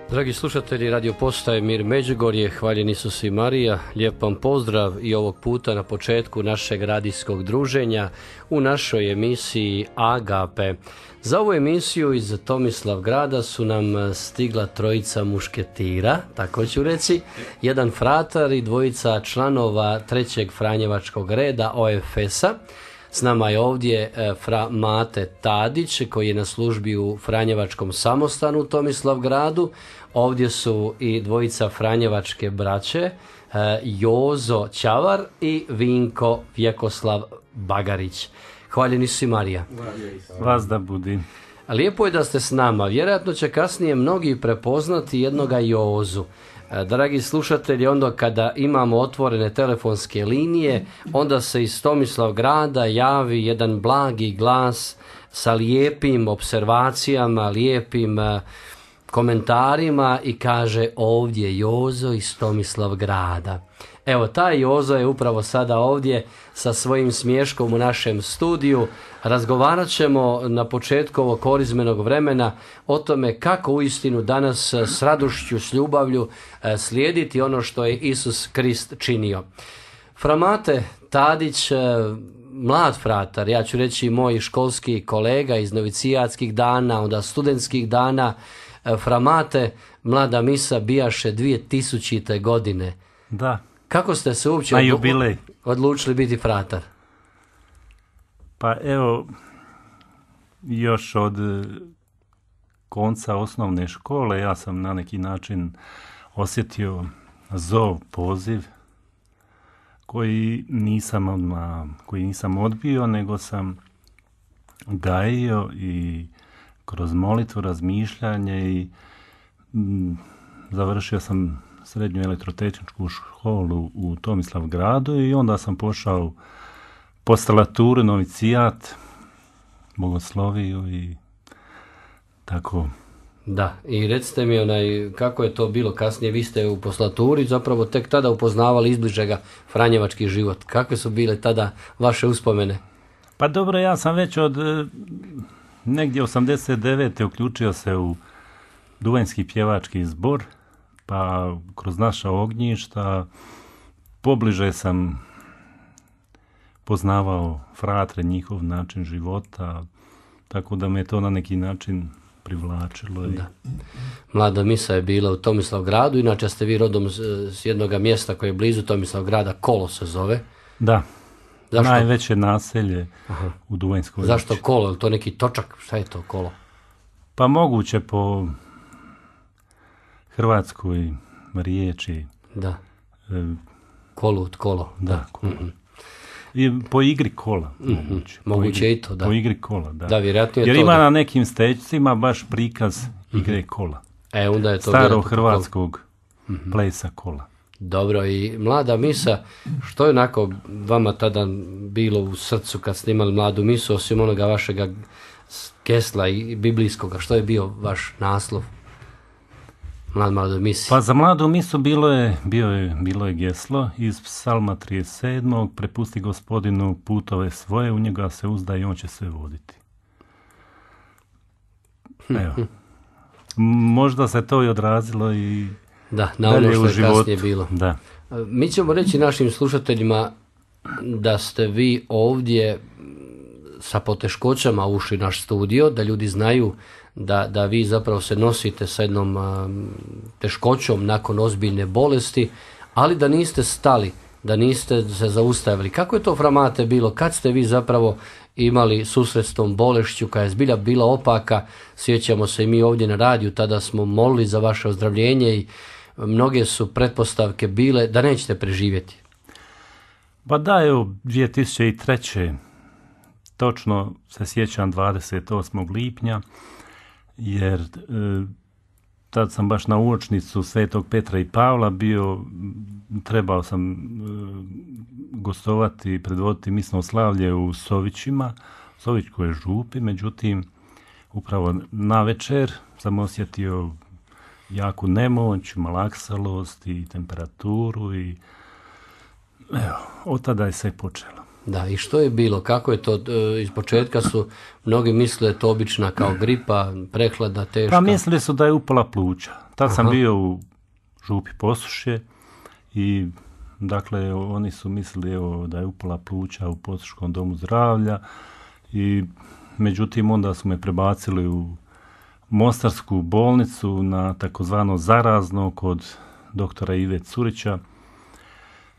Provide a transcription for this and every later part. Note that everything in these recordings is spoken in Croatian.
Dragi slušatelji Radio Postaje Mir Međugorje, hvaljen Isus i Marija, lijep vam pozdrav i ovog puta na početku našeg radijskog druženja u našoj emisiji Agape. Za ovu emisiju iz Tomislavgrada su nam stigla trojica mušketira, tako ću reći, jedan fratar i dvojica članova trećeg Franjevačkog reda OFS-a. S nama je ovdje fra Mate Tadić koji je na službi u Franjevačkom samostanu u Tomislavgradu. Ovdje su i dvojica Franjevačke braće, Jozo Ćavar i Vinko Vjekoslav Bagarić. Hvaljeni si Marija. Vas da budi. Lijepo je da ste s nama. Vjerojatno će kasnije mnogi prepoznati jednoga Jozu. Dragi slušatelji, onda kada imamo otvorene telefonske linije, onda se iz Tomislavgrada javi jedan blagi glas sa lijepim observacijama, lijepim komentarima i kaže ovdje Jozo iz Tomislavgrada. Evo, taj Jozo je upravo sada ovdje sa svojim smiješkom u našem studiju. Razgovarat ćemo na početku ovog korizmenog vremena o tome kako uistinu danas s radošću, s ljubavlju slijediti ono što je Isus Krist činio. Fra Mate Tadić, mlad fratar, ja ću reći moj školski kolega iz novicijatskih dana, onda studentskih dana. Fra Mate, mlada misa bijaše 2000. godine. Da. Kako ste se uopće odlučili biti fratar? Pa evo, još od konca osnovne škole ja sam na neki način osjetio zov, poziv koji nisam odbio, nego sam gajio i kroz molitvu, razmišljanje i završio sam srednju elektrotehničku školu u Tomislavgradu i onda sam pošao postalaturu, novicijat, bogosloviju i tako. Da, i recite mi kako je to bilo kasnije, vi ste u poslaturi zapravo tek tada upoznavali izbližega franjevački život. Kakve su bile tada vaše uspomene? Pa dobro, ja sam već od negdje 89. uključio se u Duvanjski pjevački zbor, pa kroz naša ognjišta pobliže sam poznavao fratre, njihov način života, tako da me to na neki način privlačilo. Da. Mlada misa je bila u Tomislavgradu, inače ste vi rodom s jednog mjesta koje je blizu Tomislavgrada, Kolo se zove. Da. Zašto? Najveće naselje u Duvanjskoj. Zašto Kolo? Je to neki točak? Šta je to Kolo? Pa moguće po hrvatskoj riječi. Da. Kolo. Da. Kolo. I po igri kola. Moguće i to, da. Po igri kola, da. Da, vjerojatno je jer to. Jer ima na nekim stečcima baš prikaz igre kola. Onda je to starog hrvatskog plesa kola. Dobro, i mlada misa, što je onako vama tada bilo u srcu kad ste imali mladu misu, osim onoga vašega gesla i biblijskoga, što je bio vaš naslov mladoj misi? Pa za mladu misu bilo je geslo iz Psalma 37. Prepusti Gospodinu putove svoje, u njega se uzda i on će sve voditi. Evo. Možda se to i odrazilo i da, na ono što je kasnije bilo. Da. Mi ćemo reći našim slušateljima da ste vi ovdje sa poteškoćama ušli naš studio, da ljudi znaju da vi zapravo se nosite sa jednom teškoćom nakon ozbiljne bolesti, ali da niste stali, da niste se zaustavili. Kako je to, fra Mate, bilo? Kad ste vi zapravo imali susret s tom bolešću koja je zbilja bila opaka? Sjećamo se i mi ovdje na radiju, tada smo molili za vaše ozdravljenje i mnoge su pretpostavke bile da nećete preživjeti. Pa da, evo, 2003. točno se sjećam 28. lipnja, jer tad sam baš na uočnicu Svetog Petra i Pavla bio, trebao sam gostovati i predvoditi misno slavlje u Sovićima, Sovićkoj župi, međutim, upravo na večer sam osjetio jaku nemoć, malaksalost i temperaturu i evo, od tada je sve počelo. Da, i što je bilo? Kako je to? Iz početka su mnogi mislili to obična kao gripa, prehlada, teška. Pa mislili su da je upala pluća. Tad sam bio u župi Posušje i dakle oni su mislili da je upala pluća u Posuškom domu zdravlja i međutim onda su me prebacili u Mostarsku bolnicu na takozvano zarazno kod doktora Ive Curića.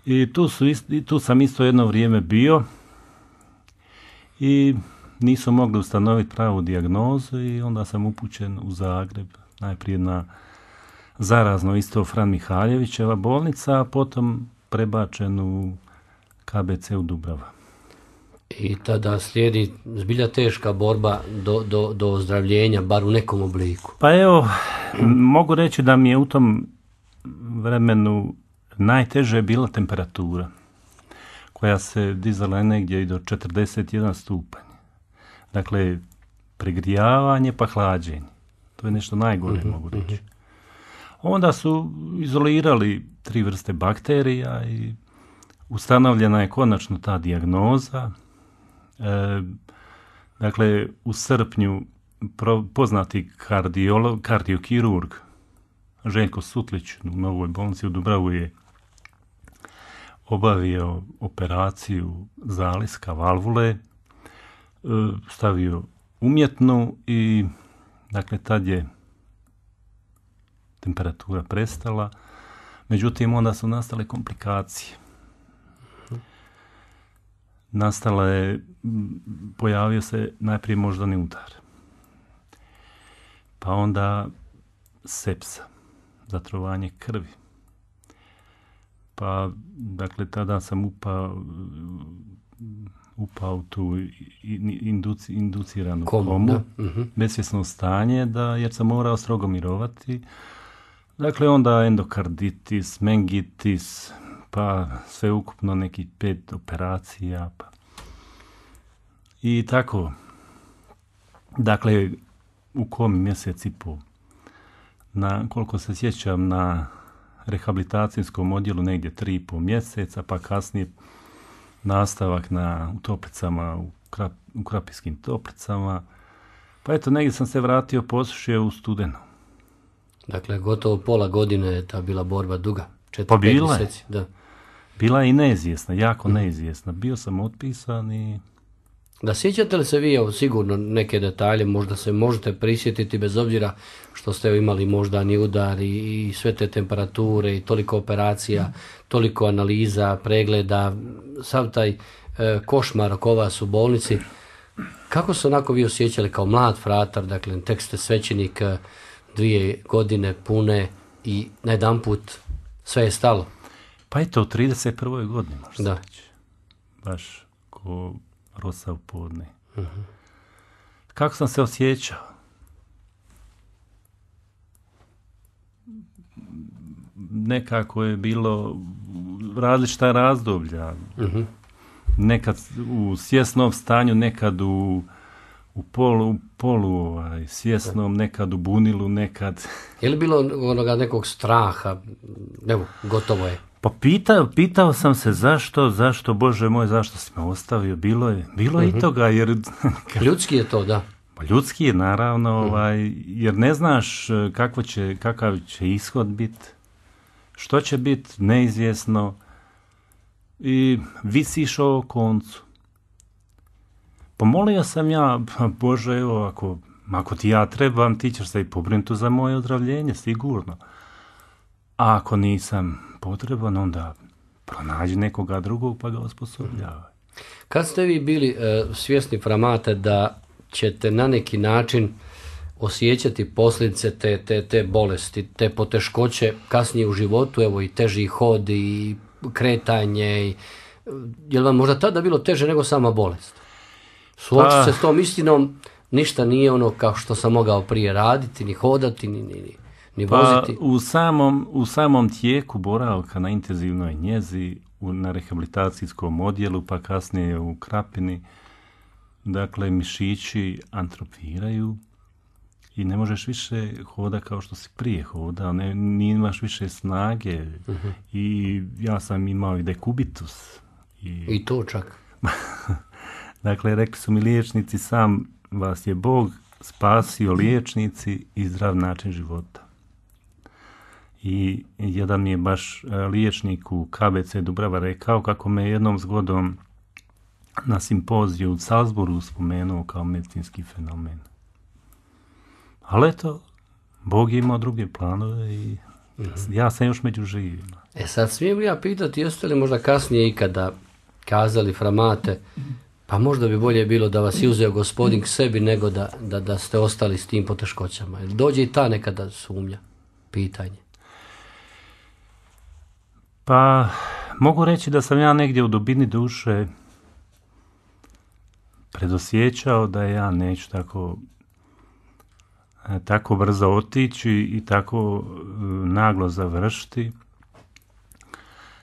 I tu sam isto jedno vrijeme bio i nisu mogli ustanoviti pravu dijagnozu i onda sam upućen u Zagreb, najprije na zarazno isto Fran Mihaljevićeva bolnica, a potom prebačen u KBC u Dubrava. I tada slijedi zbilja teška borba do ozdravljenja, bar u nekom obliku. Pa evo, mogu reći da mi je u tom vremenu najteže bila temperatura, koja se dizala negdje i do 41 stupanj. Dakle, pregrijavanje pa hlađenje. To je nešto najgore, mogu reći. Onda su izolirali 3 vrste bakterija i ustanovljena je konačno ta dijagnoza. Dakle, u srpnju poznati kardiokirurg Željko Sutlić u Novoj bolnici u Dubravu je obavio operaciju zaliska valvule, stavio umjetnu i dakle tad je temperatura prestala, međutim onda su nastale komplikacije. Pojavio se najprije moždani udar, pa onda sepsa, zatrovanje krvi. Pa, dakle, tada sam upao u tu induciranu komu, besvjesno stanje, jer sam morao strogo mirovati. Dakle, onda endokarditis, mengitis, pa sve ukupno nekih 5 operacija. Pa. I tako, dakle, u komi mjesec i pol. Koliko se sjećam, na rehabilitacijskom odjelu negdje 3,5 mjeseca, pa kasnije nastavak u Toplicama, u Krapijskim Toplicama. Pa eto, negdje sam se vratio Posušje u studenu. Dakle, gotovo pola godine je ta bila borba duga. 4-5 mjeseci. Da. Bila je i neizvjesna, jako neizvjesna. Bio sam otpisan i... Da, sjećate li se vi, evo, sigurno neke detalje, možda se možete prisjetiti bez obzira što ste imali moždani udar i sve te temperature i toliko operacija, toliko analiza, pregleda, sav taj košmar oko vas u bolnici. Kako se onako vi osjećali kao mlad fratar, dakle, tek ste svećenik, 2 godine pune i najedanput sve je stalo? Pa eto, u 31. godini možda da. Reći. Baš ko rosa u podne. Kako sam se osjećao? Nekako je bilo različita razdoblja. Nekad u svjesnom stanju, nekad u polu svjesnom, nekad u bunilu, nekad... Je li bilo onoga nekog straha? Evo, gotovo je. Pa pitao sam se zašto, Bože moj, zašto si me ostavio? Bilo je i toga, jer... Ljudski je to, da. Pa ljudski je, naravno, jer ne znaš kakav će ishod biti, što će biti, neizvjesno, i visiš o koncu. Pomolio sam ja, Bože, evo, ako ti ja trebam, ti ćeš se i pobrinuti za moje ozdravljenje, sigurno. A ako nisam potreban, onda pronađi nekoga drugog pa ga osposobljavaj. Kad ste vi bili svjesni, Framate, da ćete na neki način osjećati posljedice te bolesti, te poteškoće kasnije u životu, evo i teži hod i kretanje, je li vam možda tada bilo teže nego sama bolest? Suočiti se s tom istinom, ništa nije ono kao što sam mogao prije raditi, ni hodati, ni voziti. U samom tijeku boravka na intenzivnoj njezi, na rehabilitacijskom odjelu, pa kasnije u Krapini, dakle, mišići atrofiraju i ne možeš više hoda kao što si prije hodao, imaš više snage. I ja sam imao i dekubitus. I to čak? Dakle, rekli su mi liječnici, sam vas je Bog spasio, liječnici, i zdrav način života. I jedan mi je baš liječnik u KBC Dubrava rekao kako me jednom zgodom na simpoziju u Salzburgu spomenuo kao medicinski fenomen. Ali eto, Bog je imao druge planove i ja sam još među živima. Sad smijem li ja pitati, jeste li možda kasnije ikada kazali fra Mate, pa možda bi bolje bilo da vas je uzeo gospodin k sebi nego da ste ostali s tim poteškoćama? Dođe i ta nekada sumnja, pitanje. Pa, mogu reći da sam ja negdje u dubini duše predosjećao da ja neću tako brzo otići i tako naglo završiti.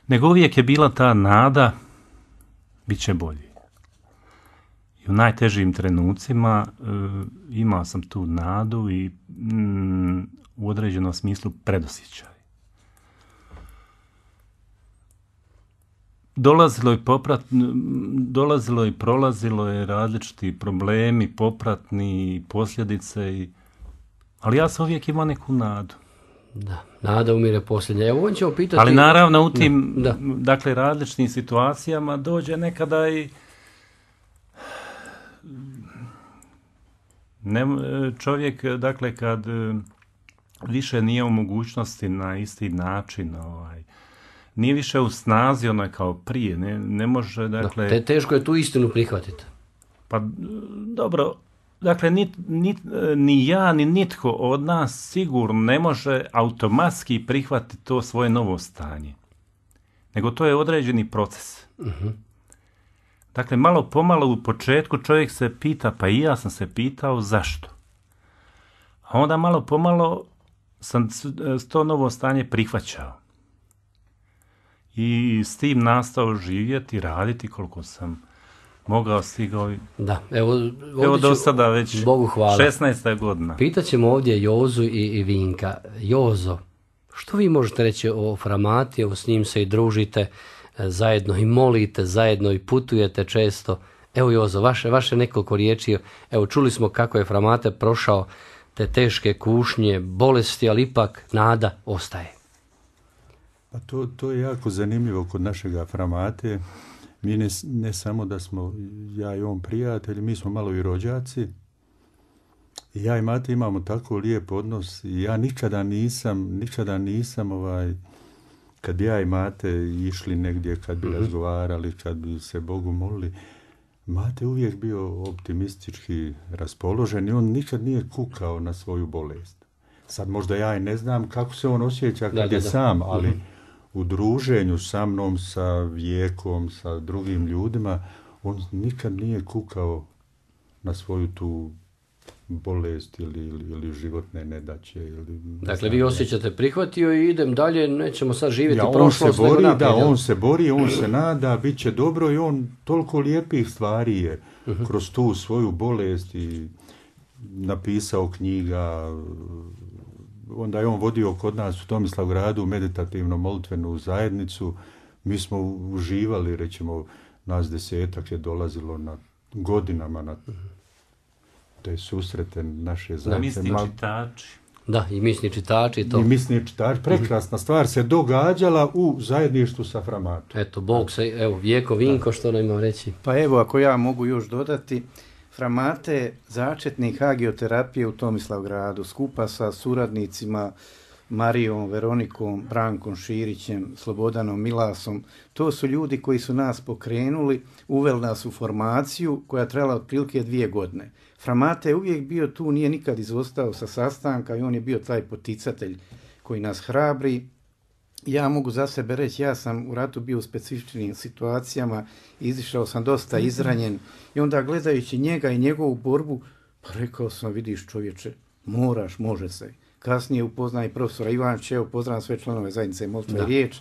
Nego uvijek je bila ta nada, bit će bolje. I u najtežim trenucima imao sam tu nadu i u određenom smislu predosjećaj. Dolazilo i prolazilo je različiti problemi, popratni, posljedice, ali ja sam uvijek imao neku nadu. Da, nada umire posljednja. Evo, on ćemo pitati... Ali naravno u tim dakle, različitim situacijama dođe nekada i čovjek, dakle, kad više nije u mogućnosti na isti način, nije više u snazi kao prije, ne može, dakle... Teško je tu istinu prihvatiti. Pa dobro, dakle, ni ja, ni nitko od nas sigurno ne može automatski prihvatiti to svoje novo stanje. Nego to je određeni proces. Uh-huh. Dakle, malo pomalo u početku čovjek se pita, pa i ja sam se pitao zašto. A onda malo pomalo sam to novo stanje prihvaćao. I s tim nastao živjeti, raditi koliko sam mogao, stigao. Da, evo do sada već Bogu hvala. 16. godina. Pitaćemo ovdje Jozu i Vinka. Jozo, što vi možete reći o fra Mati? Evo, s njim se i družite zajedno i molite, zajedno i putujete često. Evo, Jozo, vaše nekoliko riječi. Evo, čuli smo kako je fra Mate prošao te teške kušnje, bolesti, ali ipak nada ostaje. Pa to je jako zanimljivo kod našega fra Mate. Mi ne samo da smo ja i on prijatelji, mi smo malo i rođaci. I ja i Mate imamo tako lijep odnos i ja nikada nisam kad bi ja i Mate išli negdje, kad bi razgovarali, kad bi se Bogu molili, Mate uvijek bio optimistički raspoložen i on nikad nije kukao na svoju bolest. Sad možda ja i ne znam kako se on osjeća kad je sam, ali u druženju sa mnom, sa Vijekom, sa drugim ljudima, on nikad nije kukao na svoju tu bolest ili životne nedaće. Dakle, vi osjećate prihvatio i idem dalje, nećemo sad živjeti prošlost. On se bori, on se nada, bit će dobro i on toliko lijepih stvari je kroz tu svoju bolest i napisao knjiga. Onda je on vodio kod nas u Tomislavgradu meditativno molitvenu zajednicu. Mi smo uživali, recimo, nas 10 je dolazilo godinama na te susrete naše zajednice. Misni čitači. Da, i misni čitači. I misni čitači. Prekrasna stvar se događala u zajedništvu sa fra Matom. Eto, Bog se, evo, Vijeko, Vinko, što nam ima reći? Pa evo, ako ja mogu još dodati, fra Mate je začetnik hagioterapije u Tomislavgradu, skupa sa suradnicima Marijom, Veronikom, Brankom Širićem, Slobodanom Milasom. To su ljudi koji su nas pokrenuli, uveli nas u formaciju koja trajala otprilike 2 godine. Fra Mate je uvijek bio tu, nije nikad izostao sa sastanka i on je bio taj poticatelj koji nas hrabri. Ja mogu za sebe reći, ja sam u ratu bio u specifičnim situacijama, izišao sam dosta izranjen i onda gledajući njega i njegovu borbu, pa rekao sam, vidiš čovječe, moraš, može se. Kasnije upoznaj profesora Ivančića, evo pozdravljam sve članove zajednice Molitva i riječ.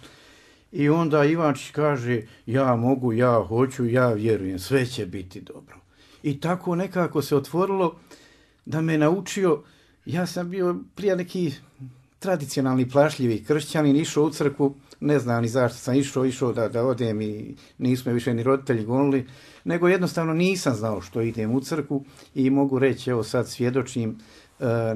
I onda Ivančić kaže, ja mogu, ja hoću, ja vjerujem, sve će biti dobro. I tako nekako se otvorilo da me naučio, ja sam bio prije nekih tradicionalni plašljivi kršćanin, išao u crkvu, ne znam ni zašto sam išao da odem i nisu me više ni roditelji gonili, nego jednostavno nisam znao što idem u crkvu i mogu reći, evo sad svjedočim,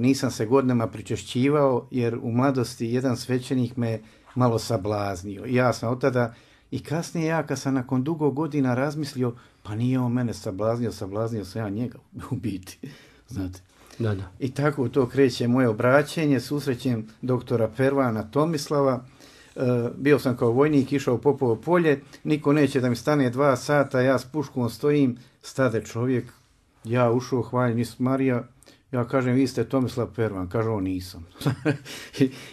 nisam se godinama pričešćivao jer u mladosti jedan svećenik me malo sablaznio. I ja sam od tada i kasnije ja kad sam nakon dugo godina razmislio, pa nije on mene sablaznio sam ja njega u biti, znate. Da. I tako to kreće moje obraćenje, susrećem doktora Pervana Tomislava, bio sam kao vojnik, išao u Popovo polje, niko neće da mi stane 2 sata, ja s puškom stojim, stade čovjek, ja ušao, hvaljen Isus Marija, ja kažem, vi ste Tomislav Pervan, kaže on, nisam.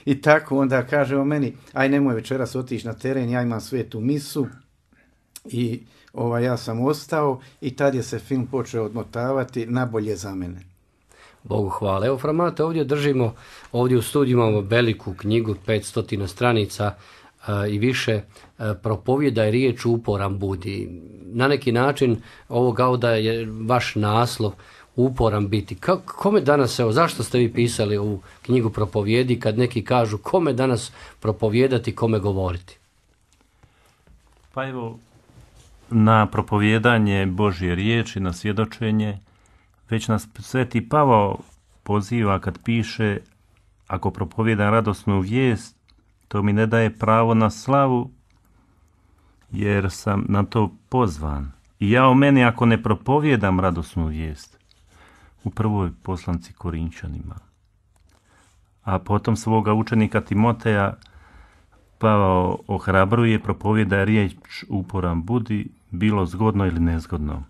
I tako onda kaže on meni, aj nemoj večeras otići na teren, ja imam svetu misu i ja sam ostao i tad je se film počeo odmotavati, nabolje za mene. Bogu hvala. Evo, Fra Mate, ovdje držimo, ovdje u studiju imamo veliku knjigu, 500 stranica i više, propovjedaj riječ uporan budi. Na neki način ovo kao da je vaš naslov uporan biti. Kome danas, evo, zašto ste vi pisali ovu knjigu propovjedi kad neki kažu kome danas propovijedati, kome govoriti? Pa evo, na propovjedanje Božje riječi, na svjedočenje, već nas Sveti Pavao poziva kad piše, ako propovjedam radosnu vijest, to mi ne daje pravo na slavu, jer sam na to pozvan. I ja o meni ako ne propovjedam radosnu vijest, u prvoj poslanci Korinčanima, a potom svoga učenika Timoteja Pavao ohrabruje, propovjedaj riječ uporan budi, bilo zgodno ili nezgodno.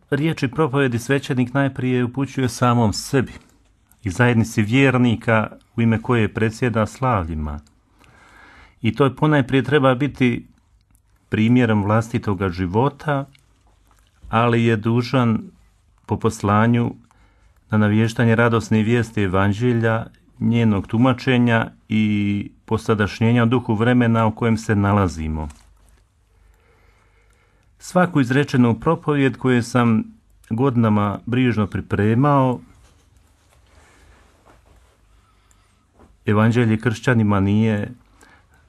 Riječi propovjedi svećenik najprije upućuje samom sebi i zajednici vjernika u ime koje predsjeda slavljima. I to ponajprije treba biti primjerom vlastitoga života, ali je dužan po poslanju na navještanje radosne vijesti evanđelja, njenog tumačenja i posadašnjenja u duhu vremena u kojem se nalazimo. Svaku izrečenu propovjed koju sam godinama brižno pripremao, evanđelje kršćanima nije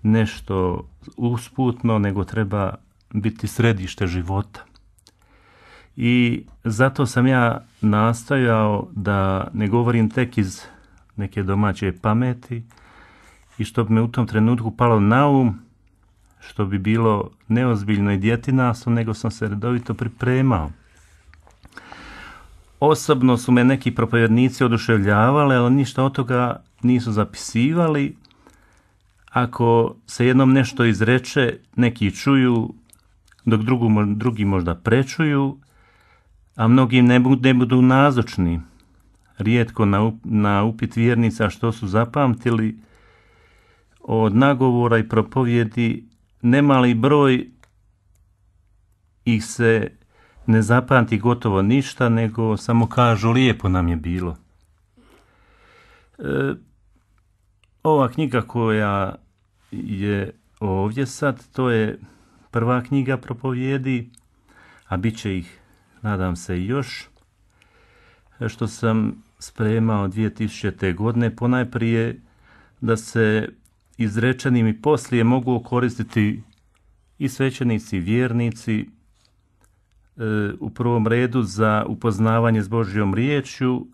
nešto usputno, nego treba biti središte života. I zato sam ja nastojao da ne govorim tek iz neke domaće pameti i što bi me u tom trenutku palo na um, što bi bilo neozbiljno i djetinasto, nego sam se redovito pripremao. Osobno su me neki propovjednici oduševljavali, ali ništa od toga nisu zapisivali. Ako se jednom nešto izreče, neki čuju, dok drugi možda prečuju, a mnogi ne budu nazočni. Rijetko na upit vjernica što su zapamtili, od nagovora i propovjedi nemali broj ih se ne zapamti gotovo ništa, nego samo kažu lijepo nam je bilo. Ova knjiga koja je ovdje sad, to je prva knjiga propovjedi, a bit će ih, nadam se, još, što sam spremao 2000. godine, ponajprije da se izrečenim i poslije mogu koristiti i svećenici i vjernici, u prvom redu za upoznavanje s Božjom riječju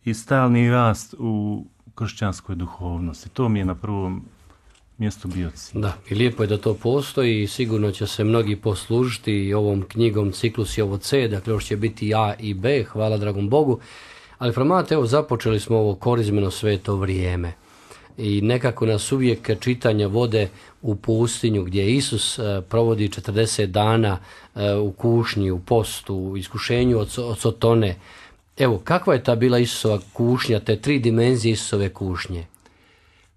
i stalni rast u kršćanskoj duhovnosti. To mi je na prvom mjestu bio cilj. Da, i lijepo je da to postoji i sigurno će se mnogi poslužiti i ovom knjigom Ciklus je ovo C, dakle još će biti A i B, hvala dragom Bogu. Ali Fra Mate, evo započeli smo ovo korizmeno sveto vrijeme i nekako nas uvijek čitanja vode u pustinju gdje Isus provodi 40 dana u kušnji, u postu, u iskušenju od Sotone. Evo, kakva je ta bila Isusova kušnja, te 3 dimenzije Isusove kušnje?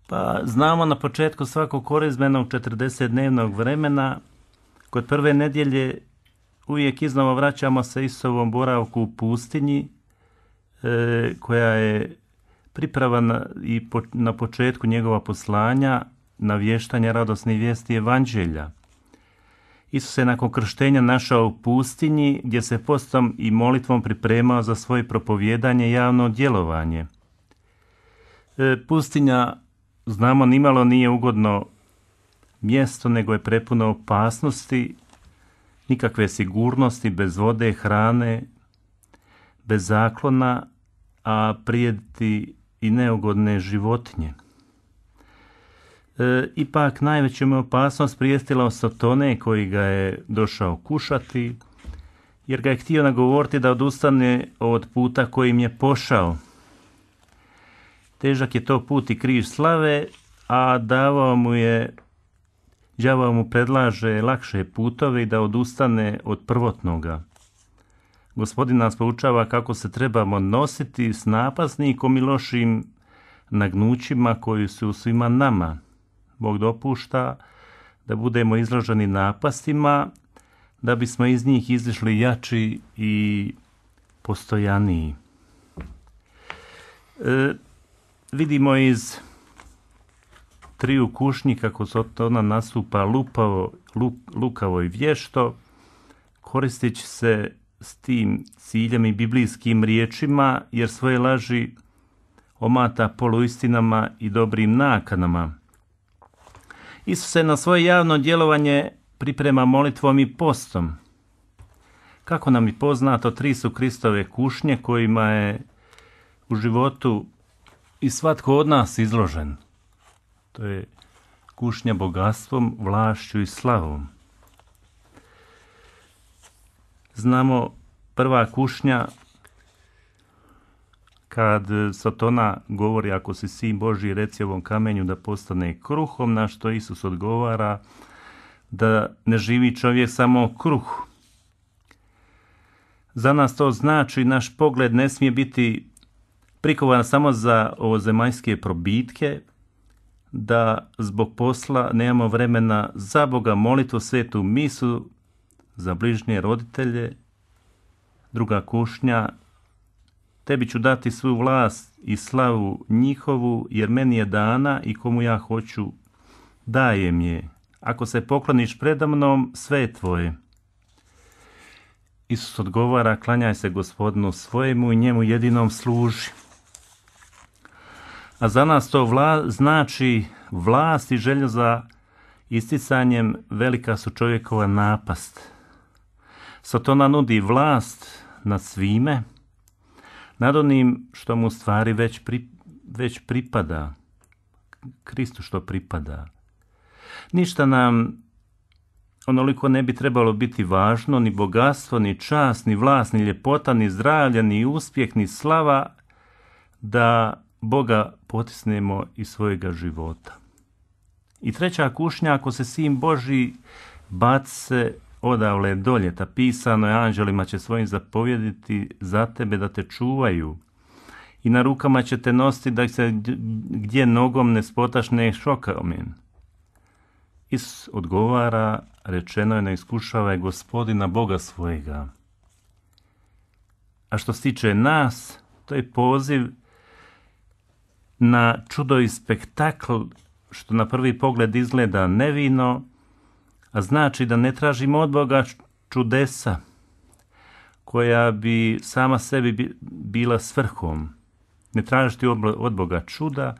Pa znamo na početku svakog korizmenog 40-dnevnog vremena, kod prve nedjelje uvijek iznova vraćamo se Isusovom boravku u pustinji, koja je priprava i na početku njegova poslanja, navještanja radosne vijesti evanđelja. Isus se nakon krštenja našao u pustinji, gdje se postom i molitvom pripremao za svoje propovjedanje i javno djelovanje. Pustinja, znamo, nimalo nije ugodno mjesto, nego je prepuno opasnosti, nikakve sigurnosti, bez vode, hrane, bez zaklona, a prijeti i neugodne životinje. Ipak najveću mu opasnost prijestila od Sotone koji ga je došao kušati, jer ga je htio nagovoriti da odustane od puta kojim je pošao. Težak je to put i križ slave, a đavao mu predlaže lakše putove i da odustane od prvotnoga. Gospodin nas poučava kako se trebamo nositi s napasnikom i lošim nagnućima koji su svima nama. Bog dopušta da budemo izloženi napastima, da bismo iz njih izišli jači i postojaniji. Vidimo iz triju kušnji kako Sotona nastupa lukavo i vješto, koristeći se s tim ciljem i biblijskim riječima, jer svoje laži omata poluistinama i dobrim nakanama. Isus se na svoje javno djelovanje priprema molitvom i postom. Kako nam je poznato, 3 su Kristove kušnje kojima je u životu i svatko od nas izložen. To je kušnja bogatstvom, vlašću i slavom. Znamo, prva kušnja, kad Sotona govori ako si sin Božji, reci ovom kamenju da postane kruhom, na što Isus odgovara da ne živi čovjek samo o kruhu. Za nas to znači naš pogled ne smije biti prikovan samo za ovozemaljske probitke, da zbog posla nemamo vremena za Boga, molitvu, svetu misu, za bližnje roditelje. Druga kušnja, tebi ću dati svu vlast i slavu njihovu, jer meni je dana i komu ja hoću dajem je. Ako se pokloniš predamnom, sve je tvoje. Isus odgovara, klanjaj se Gospodinu svojemu i njemu jedinom služi. A za nas to znači vlast i želja za isticanjem, velika su čovjekova napast. Sotona nudi vlast nad svime, nad onim što mu stvari već pripada, Kristu što pripada. Ništa nam onoliko ne bi trebalo biti važno, ni bogatstvo, ni čast, ni vlast, ni ljepota, ni zdravlje, ni uspjeh, ni slava, da Boga potisnemo iz svojega života. I treća kušnja, ako se sin Božji, baci se odavle dolje, ta pisano je, anđelima će svojim zapovjediti za tebe da te čuvaju i na rukama će te nositi da se gdje nogom ne spotašne šokamen. Isus odgovara, rečeno je, ne iskušavaj Gospodina Boga svojega. A što se tiče nas, to je poziv na čudo i spektakl, što na prvi pogled izgleda nevino, a znači da ne tražimo od Boga čudesa koja bi sama sebi bila svrhom. Ne tražiti od Boga čuda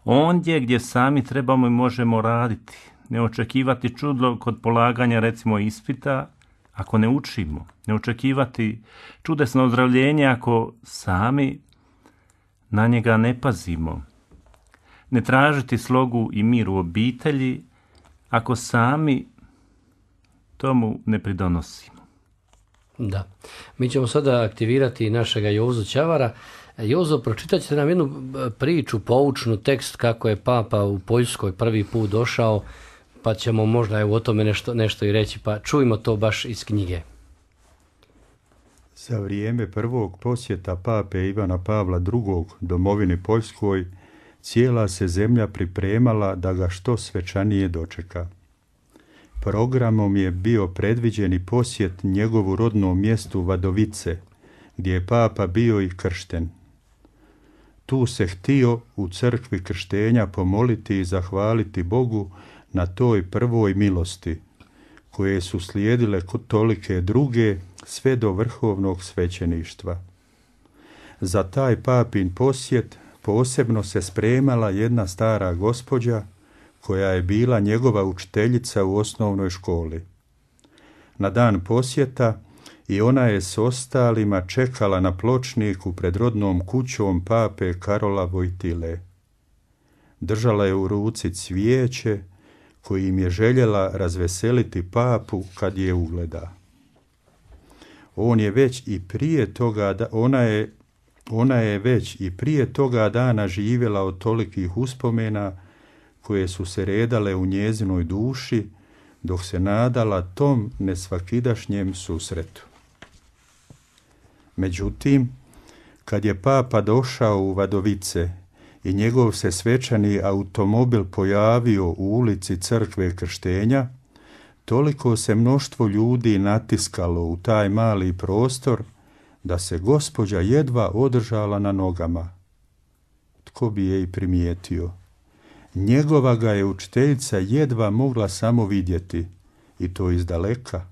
ondje gdje sami trebamo i možemo raditi. Ne očekivati čudo kod polaganja recimo ispita ako ne učimo. Ne očekivati čudesno ozdravljenje ako sami na njega ne pazimo. Ne tražiti slogu i mir u obitelji ako sami tomu ne pridonosimo. Da. Mi ćemo sada aktivirati našega Jozu Ćavara. Jozo, pročitat ćete nam jednu priču, poučnu tekst kako je Papa u Poljskoj prvi put došao, pa ćemo možda o tome nešto i reći, pa čujmo to baš iz knjige. Za vrijeme prvog posjeta Pape Ivana Pavla II. Domovini Poljskoj, cijela se zemlja pripremala da ga što svečanije dočeka. Programom je bio predviđen i posjet njegovu rodnom mjestu Vadovice, gdje je Papa bio i kršten. Tu se htio u crkvi krštenja pomoliti i zahvaliti Bogu na toj prvoj milosti, koje su slijedile tolike druge sve do vrhovnog svećeništva. Za taj papin posjet posebno se spremala jedna stara gospođa koja je bila njegova učiteljica u osnovnoj školi. Na dan posjeta i ona je s ostalima čekala na pločniku pred rodnom kućom pape Karola Vojtile. Držala je u ruci cvijeće kojim je željela razveseliti papu kad je ugleda. Ona je već i prije toga dana živjela od tolikih uspomena koje su se redale u njezinoj duši dok se nadala tom nesvakidašnjem susretu. Međutim, kad je papa došao u Vadovice i njegov se svečani automobil pojavio u ulici Crkve Krštenja, toliko se mnoštvo ljudi natiskalo u taj mali prostor da se gospođa jedva održala na nogama. Tko bi je i primijetio? Njegova ga je učiteljica jedva mogla samo vidjeti, i to izdaleka.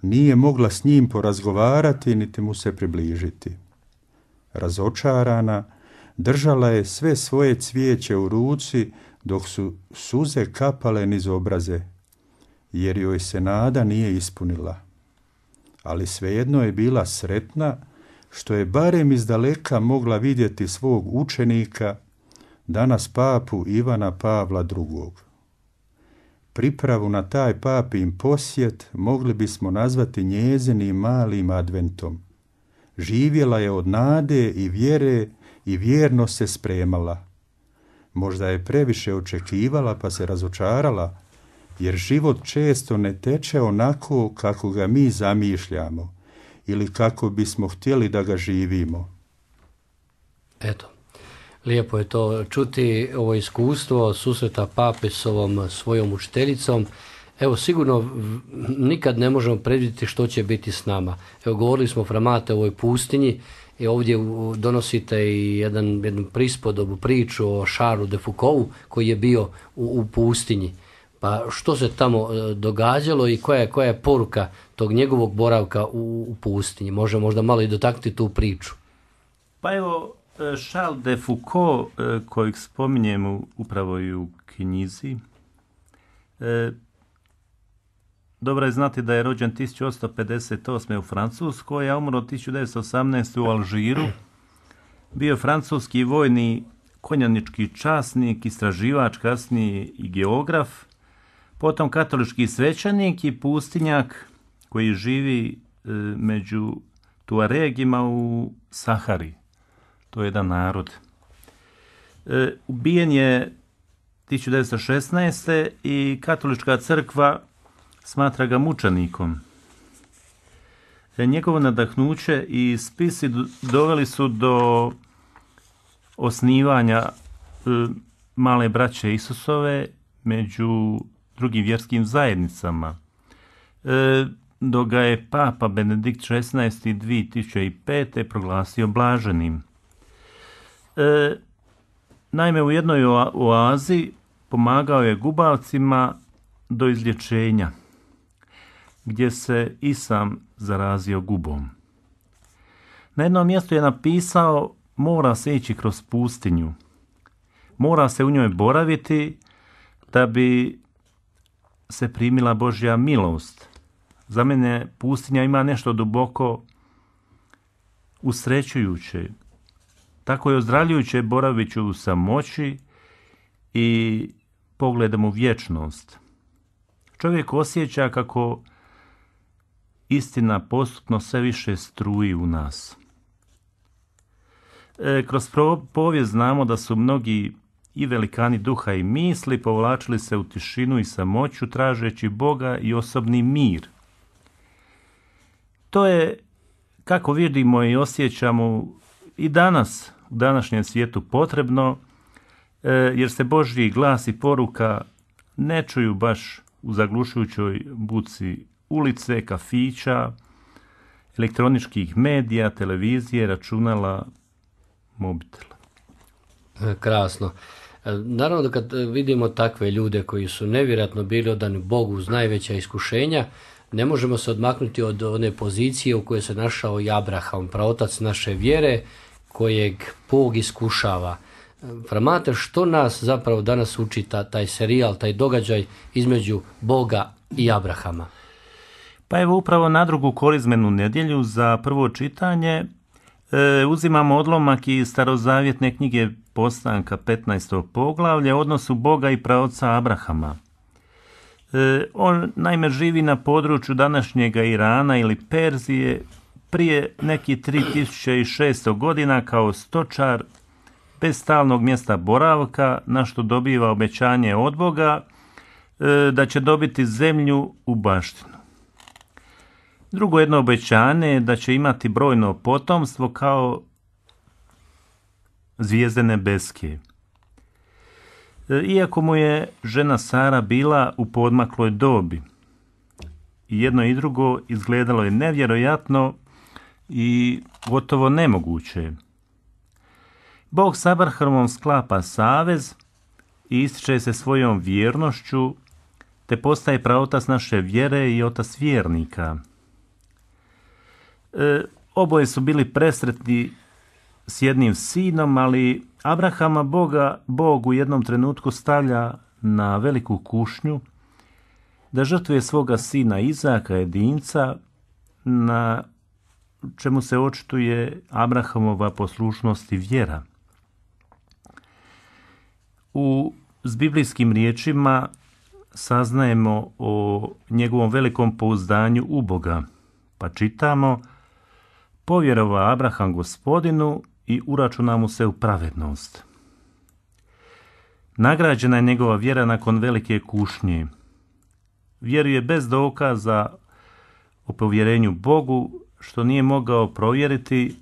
Nije mogla s njim porazgovarati niti mu se približiti. Razočarana, držala je sve svoje cvijeće u ruci dok su suze kapale niz obraze, jer joj se nada nije ispunila. Ali svejedno je bila sretna što je barem izdaleka mogla vidjeti svog učenika, danas papu Ivana Pavla II. Pripravu na taj papin posjet mogli bismo nazvati njezinim malim adventom. Živjela je od nade i vjere i vjerno se spremala. Možda je previše očekivala pa se razočarala, jer život često ne teče onako kako ga mi zamišljamo ili kako bismo htjeli da ga živimo. Eto, lijepo je to čuti, ovo iskustvo susreta pape s ovom svojom učiteljicom. Evo, sigurno nikad ne možemo predvidjeti što će biti s nama. Evo, govorili smo Framate o ovoj pustinji i ovdje donosite i jednu prispodobu, priču o Charlesu de Foucaultu koji je bio u pustinji. Pa što se tamo događalo i koja je poruka tog njegovog boravka u pustinji? Može možda malo i dotaknuti tu priču. Pa evo, Charles de Foucault, kojeg spominjemo upravo i u knjizi, dobro je znati da je rođen 1858. u Francuskoj, a umro 1918. u Alžiru. Bio je francuski vojni konjanički časnik, istraživač, kasnije i geograf, potom katolički svećenik i pustinjak koji živi među Tuaregima u Sahari. To je jedan narod. Ubijen je 1916. i katolička crkva smatra ga mučenikom. Njegovo nadahnuće i spisi doveli su do osnivanja male braće Isusove među drugim vjerskim zajednicama. Dok ga je papa Benedikt XVI 2005. proglasio blaženim. Naime, u jednoj oazi pomagao je gubavcima do izlječenja, gdje se i sam zarazio gubom. Na jednom mjestu je napisao: mora se ići kroz pustinju, mora se u njoj boraviti da bi se primila Božja milost. Za mene pustinja ima nešto duboko usrećujuće. Tako je ozdravljujuće boraviću u samoći i pogledom u vječnost. Čovjek osjeća kako istina postupno sve više struji u nas. Kroz povijest znamo da su mnogi i velikani duha i misli povlačili se u tišinu i samoću tražeći Boga i osobni mir. To je, kako vidimo i osjećamo, i danas u današnjem svijetu potrebno, jer se Božji glas i poruka ne čuju baš u zaglušujućoj buci ulice, kafića, elektroničkih medija, televizije, računala, mobitela. Krasno. Naravno da kad vidimo takve ljude koji su nevjerojatno bili odani Bogu uz najveća iskušenja, ne možemo se odmaknuti od one pozicije u kojoj se našao i Abraham, praotac naše vjere, kojeg Bog iskušava. Framate, što nas zapravo danas uči taj serijal, taj događaj između Boga i Abrahama? Pa evo upravo na drugu korizmenu nedjelju za prvo čitanje uzimamo odlomak iz starozavjetne knjige Postanka 15. poglavlje o odnosu Boga i praoca Abrahama. On naime živi na području današnjega Irana ili Perzije prije nekih 3600 godina kao stočar bez stalnog mjesta boravka, na što dobiva obećanje od Boga da će dobiti zemlju u baštinu. Drugo jedno obećanje je da će imati brojno potomstvo kao zvijezde nebeske. Iako mu je žena Sara bila u poodmakloj dobi, i jedno i drugo izgledalo je nevjerojatno i gotovo nemoguće. Bog s Abrahamom sklapa savez i ističe se svojom vjernošću, te postaje praotac naše vjere i otac vjernika. Oboje su bili presretni s jednim sinom, ali Abrahama Bog u jednom trenutku stavlja na veliku kušnju da žrtvuje svoga sina Izaka, jedinca, na čemu se očituje Abrahamova poslušnost i vjera. S biblijskim riječima saznajemo o njegovom velikom pouzdanju u Boga, pa čitamo: povjerova Abraham Gospodinu i uračuna mu se u pravednost. Nagrađena je njegova vjera nakon velike kušnje. Vjeruje bez dokaza o povjerenju Bogu, što nije mogao provjeriti,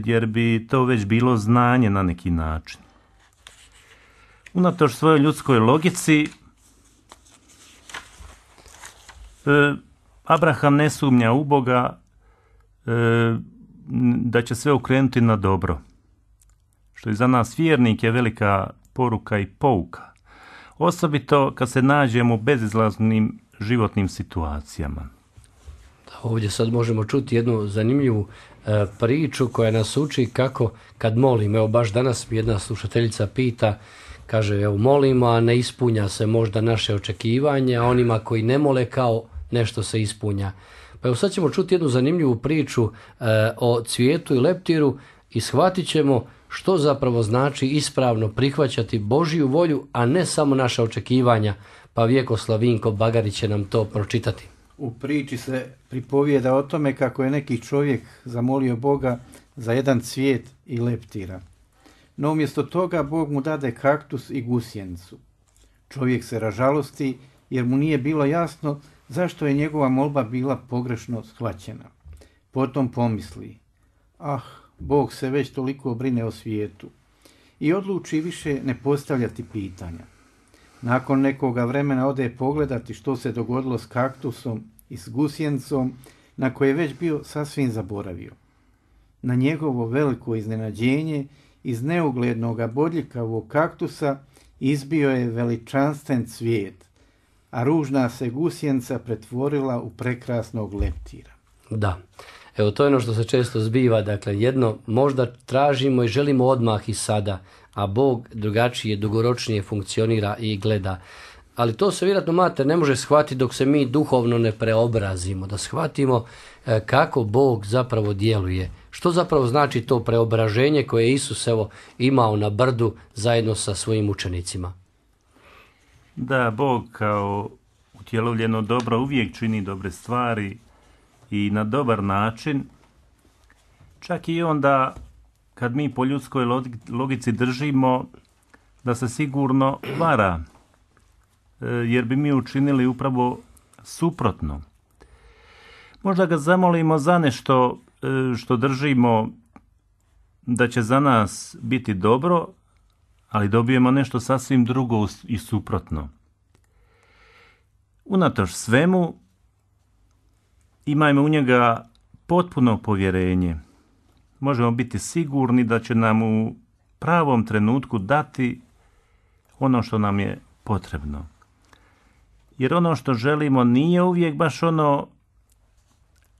jer bi to već bilo znanje na neki način. Unatoč svojoj ljudskoj logici, Abraham ne sumnja u Boga da će sve okrenuti na dobro, što je za nas vjernike velika poruka i pouka, osobito kad se nađemo u bezizlaznim životnim situacijama. Ovdje sad možemo čuti jednu zanimljivu priču koja nas uči kako kad molimo. Evo baš danas mi jedna slušateljica pita, kaže, evo molimo, a ne ispunja se možda naše očekivanje, a onima koji ne mole kao nešto se ispunja. Pa evo sad ćemo čuti jednu zanimljivu priču o cvijetu i leptiru i shvatit ćemo što zapravo znači ispravno prihvaćati Božju volju, a ne samo naša očekivanja. Pa Vjekoslav Vinko Bagarić će nam to pročitati. U priči se pripovijeda o tome kako je neki čovjek zamolio Boga za jedan cvijet i leptira. No umjesto toga Bog mu dade kaktus i gusjenicu. Čovjek se ražalosti jer mu nije bilo jasno zašto je njegova molba bila pogrešno shvaćena. Potom pomisli: Bog se već toliko brine o svijetu, i odluči više ne postavljati pitanja. Nakon nekoga vremena ode pogledati što se dogodilo s kaktusom i s gusjenicom, na koje je već bio sasvim zaboravio. Na njegovo veliko iznenađenje, iz neuglednoga bodljikavog kaktusa izbio je veličanstven cvijet, a ružna se gusjenica pretvorila u prekrasnog leptira. Da, evo to je ono što se često zbiva, dakle jedno možda tražimo i želimo odmah i sada, a Bog drugačije, dugoročnije funkcionira i gleda. Ali to se vjerojatno, mater, ne može shvatiti dok se mi duhovno ne preobrazimo, da shvatimo kako Bog zapravo djeluje. Što zapravo znači to preobraženje koje je Isus imao na brdu zajedno sa svojim učenicima? Da, Bog kao utjelovljeno dobro uvijek čini dobre stvari i na dobar način, čak i onda kad mi po ljudskoj logici držimo da se sigurno vara, jer bi mi učinili upravo suprotno. Možda ga zamolimo za nešto što držimo da će za nas biti dobro, ali dobijemo nešto sasvim drugo i suprotno. Unatoč svemu, imajmo u njega potpuno povjerenje. Možemo biti sigurni da će nam u pravom trenutku dati ono što nam je potrebno. Jer ono što želimo nije uvijek baš ono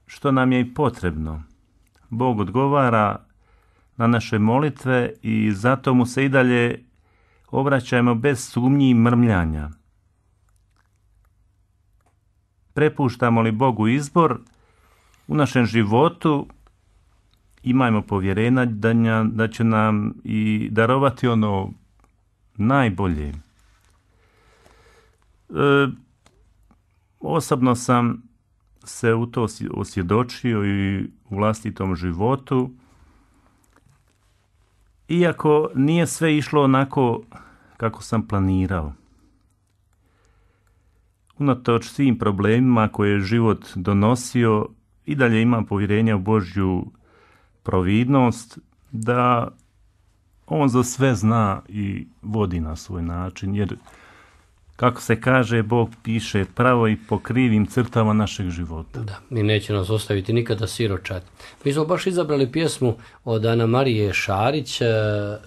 što nam je i potrebno. Bog odgovara na naše molitve i zato mu se i dalje obraćajmo bez sumnji i mrmljanja. Prepuštamo li Bogu izbor u našem životu, imajmo povjerenja da će nam i darovati ono najbolje. Osobno sam se u to osvjedočio i u vlastitom životu. Iako nije sve išlo onako kako sam planirao. Unatoč svim problemima koje je život donosio, i dalje imam povjerenja u Božju providnost, da on za sve zna i vodi na svoj način, jer kako se kaže, Bog piše pravo i po krivim crtama našeg života. Da, i neće nas ostaviti nikada siročad. Mi smo baš izabrali pjesmu od Ana Marije Šarić,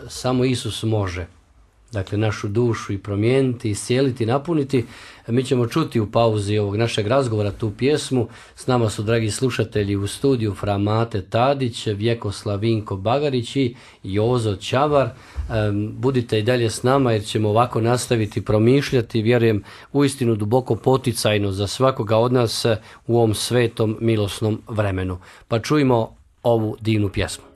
Samo Isus može. Dakle, našu dušu i promijeniti, iscijeliti, napuniti. Mi ćemo čuti u pauzi ovog našeg razgovora tu pjesmu. S nama su, dragi slušatelji, u studiju Fra Mate Tadić, Vjekoslav Vinko Bagarić i Jozo Čavar. Budite i dalje s nama jer ćemo ovako nastaviti promišljati, vjerujem, uistinu duboko poticajno za svakoga od nas u ovom svetom milosnom vremenu. Pa čujmo ovu divnu pjesmu.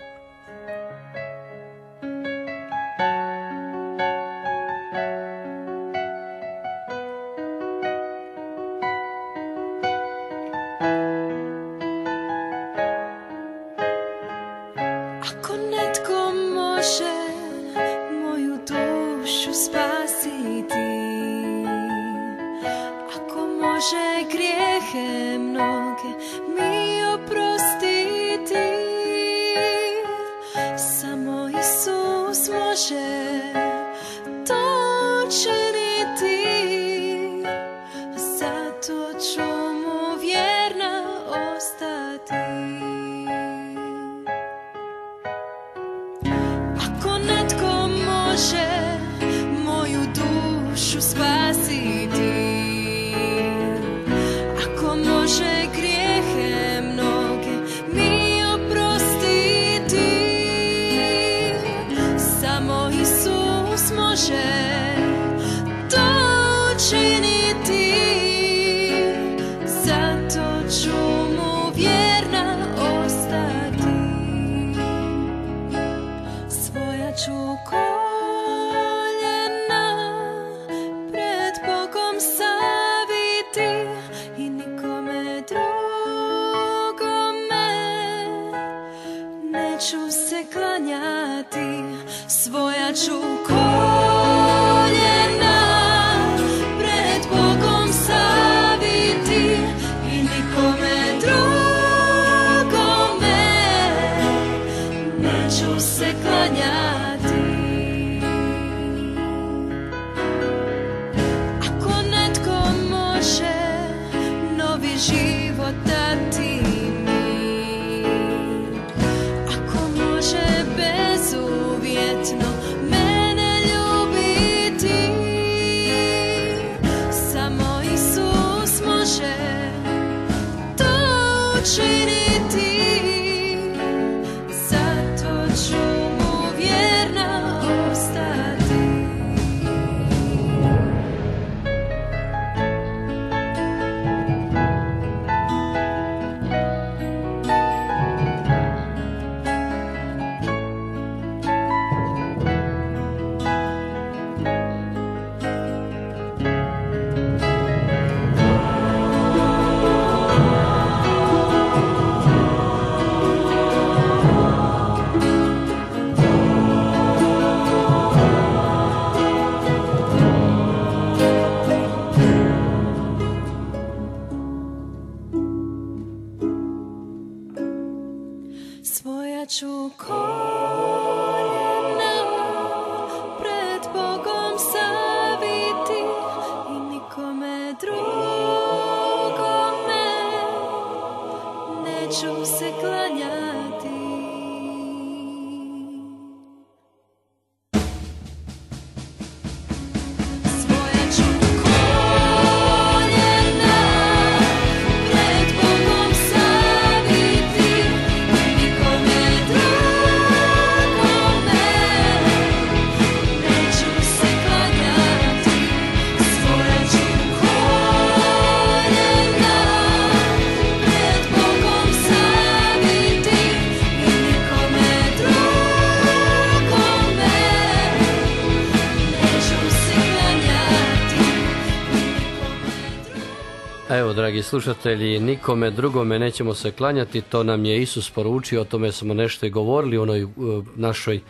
Evo, dragi slušatelji, nikome drugome nećemo se klanjati, to nam je Isus poručio, o tome smo nešto i govorili u onoj našoj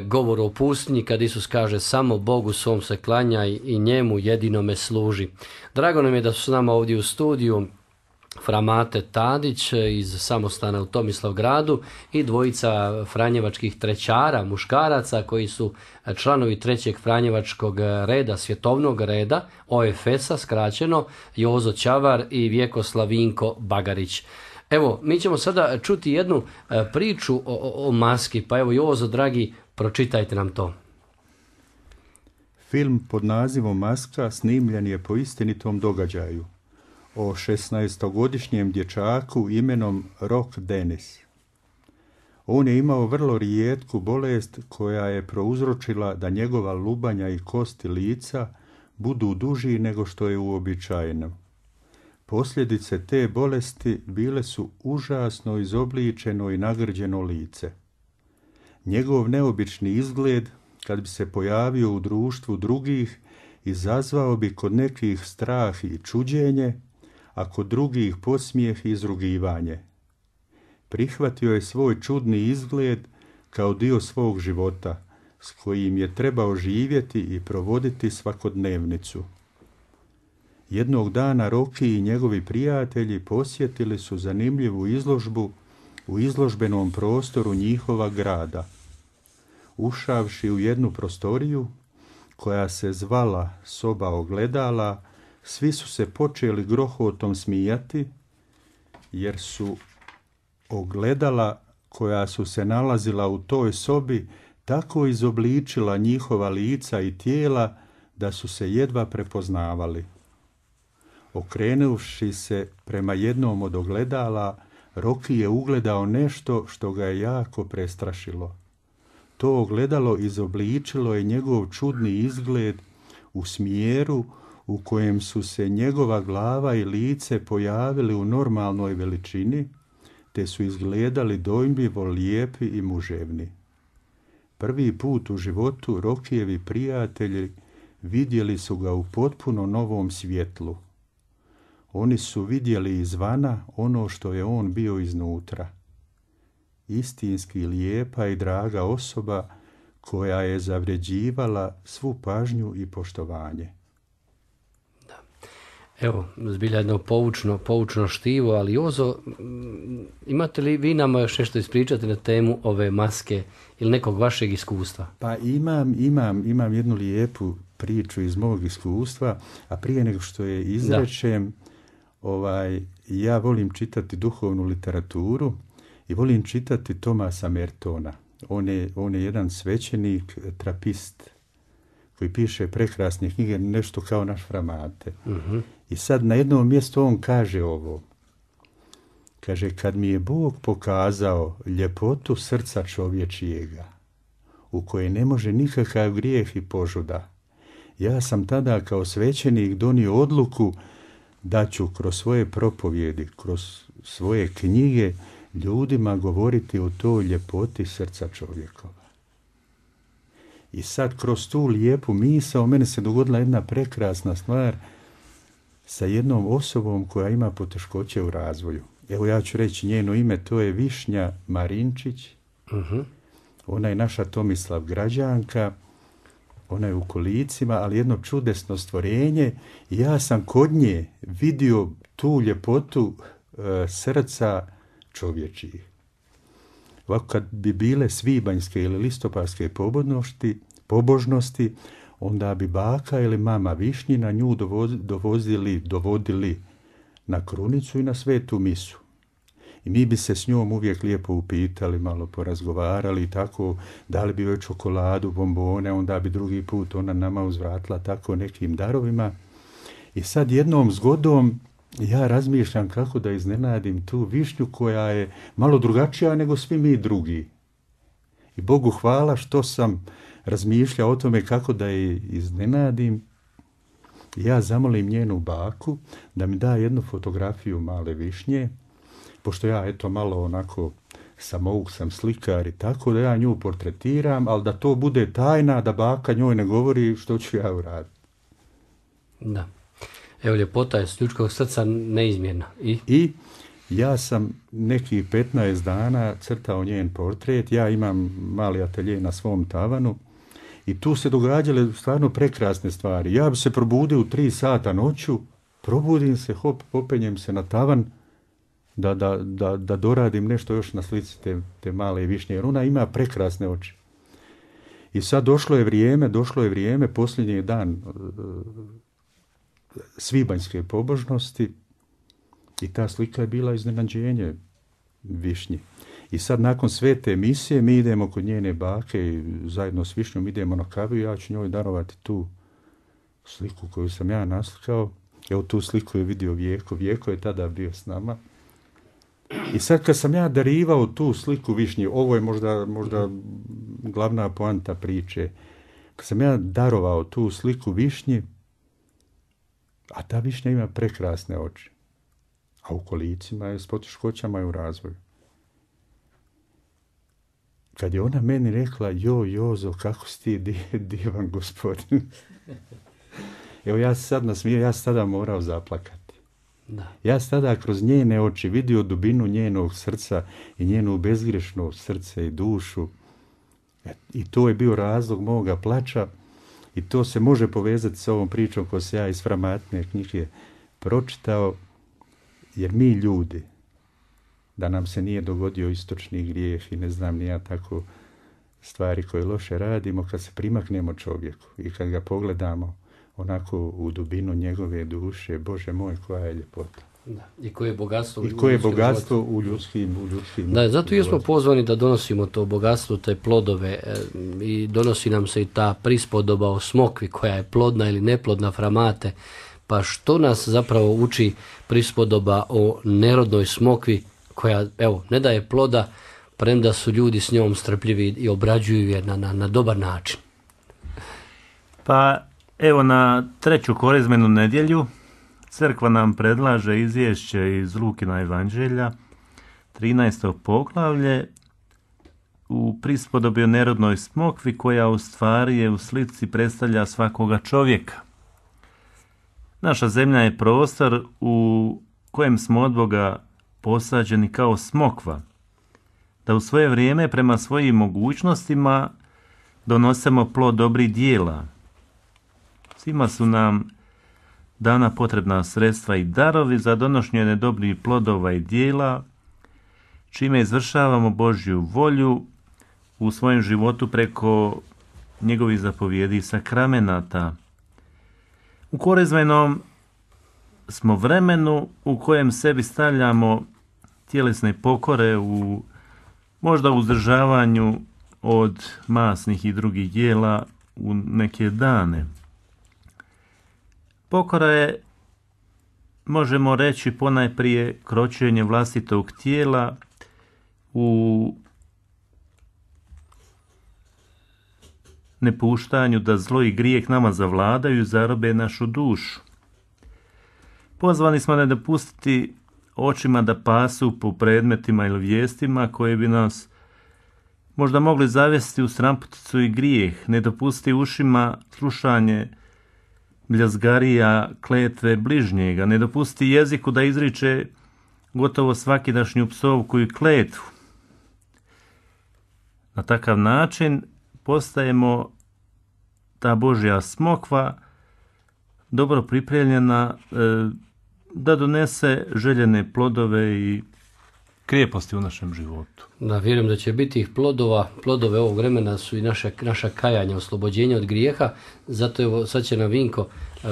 govoru o pustinji, kad Isus kaže samo Bogu svom se klanja i njemu jedinome služi. Drago nam je da su s nama ovdje u studiju fra Mate Tadić iz samostana u Tomislavgradu i dvojica franjevačkih trećara, muškaraca koji su članovi trećeg franjevačkog reda, svjetovnog reda, OFS-a skraćeno, Jozo Čavar i Vjekoslav Vinko Bagarić. Evo, mi ćemo sada čuti jednu priču o maski, pa evo Jozo, dragi, pročitajte nam to. Film pod nazivom Maska snimljen je po istinitom događaju o 16-godišnjem dječaku imenom Rock Dennis. On je imao vrlo rijetku bolest koja je prouzročila da njegova lubanja i kosti lica budu duži nego što je uobičajeno. Posljedice te bolesti bile su užasno izobličeno i nagrđeno lice. Njegov neobični izgled, kad bi se pojavio u društvu drugih, izazvao bi kod nekih strah i čuđenje, a kod drugih podsmijeh i izrugivanje. Prihvatio je svoj čudni izgled kao dio svog života, s kojim je trebao živjeti i provoditi svakodnevnicu. Jednog dana Roki i njegovi prijatelji posjetili su zanimljivu izložbu u izložbenom prostoru njihova grada. Ušavši u jednu prostoriju, koja se zvala soba ogledala, svi su se počeli grohotom smijati, jer su ogledala koja su se nalazila u toj sobi tako izobličila njihova lica i tijela da su se jedva prepoznavali. Okrenuvši se prema jednom od ogledala, Roki je ugledao nešto što ga je jako prestrašilo. To ogledalo izobličilo je njegov čudni izgled u smjeru u kojem su se njegova glava i lice pojavili u normalnoj veličini, te su izgledali dojmljivo lijepi i muževni. Prvi put u životu Rokijevi prijatelji vidjeli su ga u potpuno novom svjetlu. Oni su vidjeli izvana ono što je on bio iznutra. Istinski lijepa i draga osoba koja je zavređivala svu pažnju i poštovanje. Evo, zbilja jedno poučno štivo, ali Jozo, imate li vi nama još nešto ispričati na temu ove maske ili nekog vašeg iskustva? Pa imam jednu lijepu priču iz mog iskustva, a prije nego što je izrečem, ja volim čitati duhovnu literaturu i volim čitati Thomasa Mertona. On je jedan svećenik, trapist, koji piše prekrasne knjige, nešto kao naš fra Mate. Uh-huh. I sad na jednom mjestu on kaže ovo. Kaže, kad mi je Bog pokazao ljepotu srca čovječijega, u koje ne može nikakav grijeh i požuda, ja sam tada kao svećenik donio odluku da ću kroz svoje propovjedi, kroz svoje knjige ljudima govoriti o toj ljepoti srca čovjekova. I sad kroz tu lijepu misao meni se dogodila jedna prekrasna stvar sa jednom osobom koja ima poteškoće u razvoju. Evo ja ću reći njeno ime, to je Višnja Marinčić. Uh-huh. Ona je naša Tomislavgrađanka, ona je u kolicima, ali jedno čudesno stvorenje. I ja sam kod nje vidio tu ljepotu srca čovječih. Ovako kad bi bile svibanjske ili listopadske pobožnosti, onda bi baka ili mama Višnjina nju dovodili na krunicu i na svetu misu. I mi bi se s njom uvijek lijepo upitali, malo porazgovarali i tako, dali bi joj čokoladu, bombone, onda bi drugi put ona nama uzvratila tako nekim darovima. I sad jednom zgodom ja razmišljam kako da iznenadim tu Višnju koja je malo drugačija nego svi mi drugi. I Bogu hvala što sam razmišljao o tome kako da je iznenadim. Ja zamolim njenu baku da mi da jednu fotografiju male Višnje, pošto ja malo onako samouk sam slikar i tako, da ja nju portretiram, ali da to bude tajna, da baka njoj ne govori što ću ja uraditi. Da. Evo, ljepota je s ljudskog srca neizmjerna. I ja sam nekih 15 dana crtao njen portret, ja imam mali atelje na svom tavanu i tu se događale stvarno prekrasne stvari. Ja bi se probudio u 3 sata noću, probudim se, hop, popenjem se na tavan da doradim nešto još na slici te male višnje, jer ona ima prekrasne oči. I sad došlo je vrijeme, posljednji dan svibanjske pobožnosti i ta slika je bila iznenađenje višnji. I sad nakon svete misije mi idemo kod njene bake i zajedno s višnjom idemo na kavu i ja ću njoj darovati tu sliku koju sam ja naslikao. Evo tu sliku je vidio Vjeko je tada bio s nama. I sad kad sam ja darivao tu sliku višnji, ovo je možda glavna poanta priče, kad sam ja darovao tu sliku višnji, a ta višnja ima prekrasne oči, a u kolicima je s poteškoćama i u razvoju. Kad je ona meni rekla, Jozo, kako si ti divan gospodin. Evo ja se sad nasmijao, ja sam tada morao zaplakati. Da. Ja sam tada kroz njene oči vidio dubinu njenog srca i njenu bezgrešno srce i dušu. I to je bio razlog moga plača i to se može povezati s ovom pričom koju sam ja iz Framatne knjige pročitao, jer mi ljudi, da nam se nije dogodio istočni grijeh i ne znam ni ja tako stvari koje loše radimo, kad se primaknemo čovjeku i kad ga pogledamo onako u dubinu njegove duše, Bože moj, koja je ljepota. Da. I koje je bogatstvo, u ljudskim Da, zato i smo pozvani da donosimo to bogatstvo, te plodove i donosi nam se i ta prispodoba o smokvi koja je plodna ili neplodna, Framate. Pa što nas zapravo uči prispodoba o nerodnoj smokvi koja, evo, ne daje ploda, premda su ljudi s njom strpljivi i obrađuju je na dobar način. Pa evo, na 3. korizmenu nedjelju crkva nam predlaže izvješće iz Lukina evanđelja, 13. poglavlje, u prispodobi o nerodnoj smokvi koja u stvari je u slici predstavlja svakoga čovjeka. Naša zemlja je prostor u kojem smo od Boga posađeni kao smokva, da u svoje vrijeme prema svojim mogućnostima donosimo plod dobrih dijela. Svima su nam dana potrebna sredstva i darovi za donošenje dobrih plodova i dijela, čime izvršavamo Božju volju u svojem životu preko njegovih zapovjedi i sakramenata. U korizmenom smo vremenu u kojem sebi stavljamo tjelesne pokore u možda uzdržavanju od masnih i drugih dijela u neke dane. Pokora je, možemo reći, ponajprije kročenje vlastitog tijela u nepuštanju da zlo i grijeh nama zavladaju i zarobe našu dušu. Pozvani smo ne dopustiti očima da pasu po predmetima ili vijestima koje bi nas možda mogli zavesti u stranputicu i grijeh, ne dopustiti ušima slušanje bljazgarija kletve bližnjega, ne dopustiti jeziku da izriče gotovo svakidašnju psovku i kletvu. Na takav način postajemo ta Božja smokva dobro pripremljena da donese željene plodove i krijeposti u našem životu. Da, vjerujem da će biti ih plodova. Plodove ovog vremena su i naša kajanja, oslobođenja od grijeha. Zato evo, sad će nam Vinko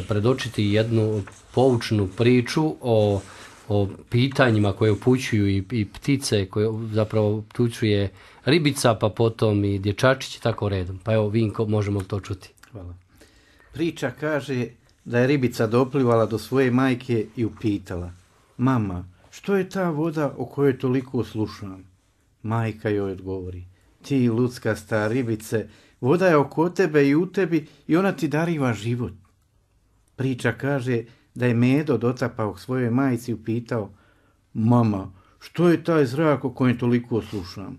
predočiti jednu poučnu priču o pitanjima koje upućuju i ptice, koje zapravo upućuje ribica, pa potom i dječačić i tako redom. Pa evo, Vinko, možemo to čuti. Hvala. Priča kaže da je ribica doplivala do svoje majke i upitala: mama, što je ta voda o kojoj toliko slušam? Majka joj odgovori: ti luckasta ribice, voda je oko tebe i u tebi i ona ti dariva život. Priča kaže da je Medo dotapao svojoj majci i upitao: mama, što je taj zrak o kojem toliko slušam?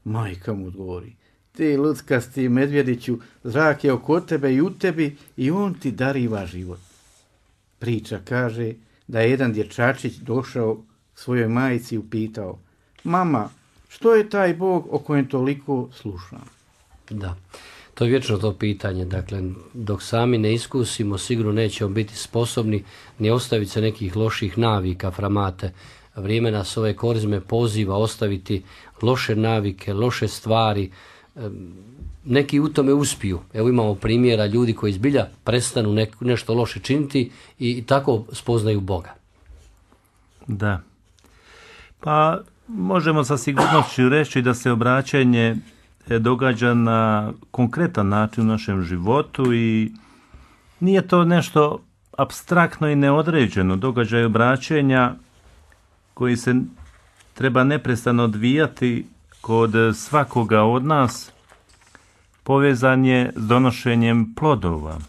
Majka mu odgovori: ti luckasti medvjediću, zrak je oko tebe i u tebi i on ti dariva život. Priča kaže da je jedan dječačić došao svojoj majici i upitao: mama, što je taj Bog o kojem toliko slušam? Da, to je vječno to pitanje. Dakle, dok sami ne iskusimo, sigurno nećemo biti sposobni ni ostaviti se nekih loših navika, framate. Vrijeme nas ove korizme poziva ostaviti loše navike, loše stvari. Neki u tome uspiju. Evo imamo primjera ljudi koji zbilja prestanu nešto loše činiti i tako spoznaju Boga. Da. Pa možemo sa sigurnošću reći da se obraćanje događa na konkretan način u našem životu i nije to nešto apstraktno i neodređeno. Događaj obraćenja koji se treba neprestano odvijati kod svakoga od nas povezan je s donošenjem plodova.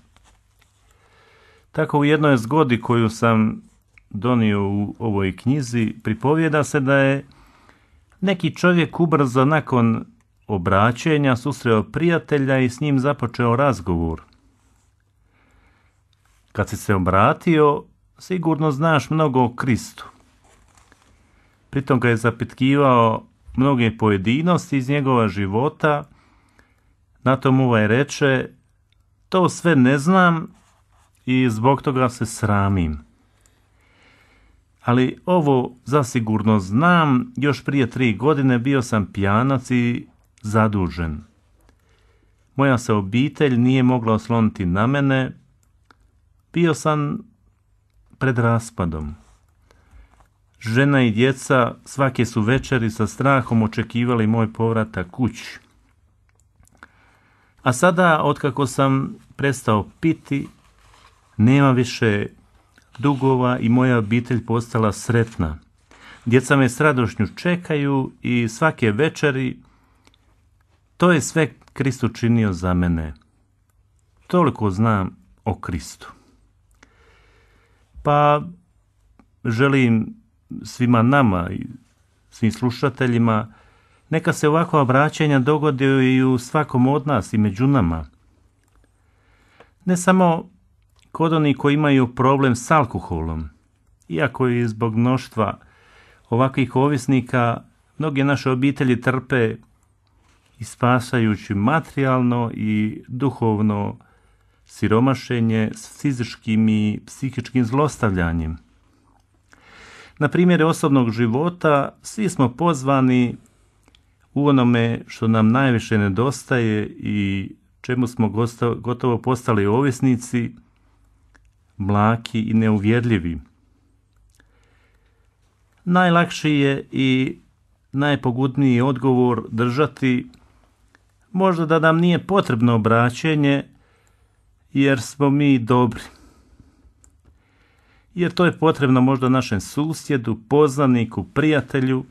Tako u jednoj zgodi koju sam donio u ovoj knjizi pripovijeda se da je neki čovjek ubrzo nakon obraćenja susreo prijatelja i s njim započeo razgovor. Kad si se obratio, sigurno znaš mnogo o Kristu. Pritom ga je zapitkivao mnoge pojedinosti iz njegova života. Na tom ovaj reče: to sve ne znam i zbog toga se sramim. Ali ovo zasigurno znam, još prije 3 godine bio sam pijanac i zadužen. Moja se obitelj nije mogla osloniti na mene, bio sam pred raspadom. Žena i djeca svake su večeri sa strahom očekivali moj povratak kući. A sada, otkako sam prestao piti, nema više dugova i moja obitelj postala sretna. Djeca me s radošću čekaju i svake večeri to je sve Krist učinio za mene. Toliko znam o Kristu. Pa želim svima nama i svim slušateljima neka se ovakva obraćanja dogode i u svakom od nas i među nama. Ne samo kod onih koji imaju problem s alkoholom, iako i zbog mnoštva ovakvih ovisnika mnoge naše obitelji trpe ispašajući materijalno i duhovno siromašenje s fizičkim i psihičkim zlostavljanjem. Na primjer osobnog života svi smo pozvani u onome što nam najviše nedostaje i čemu smo gotovo postali ovisnici, mlaki i neuvjerljivi. Najlakši je i najpogudniji odgovor držati možda da nam nije potrebno obraćenje jer smo mi dobri. Jer to je potrebno možda našem susjedu, poznaniku, prijatelju,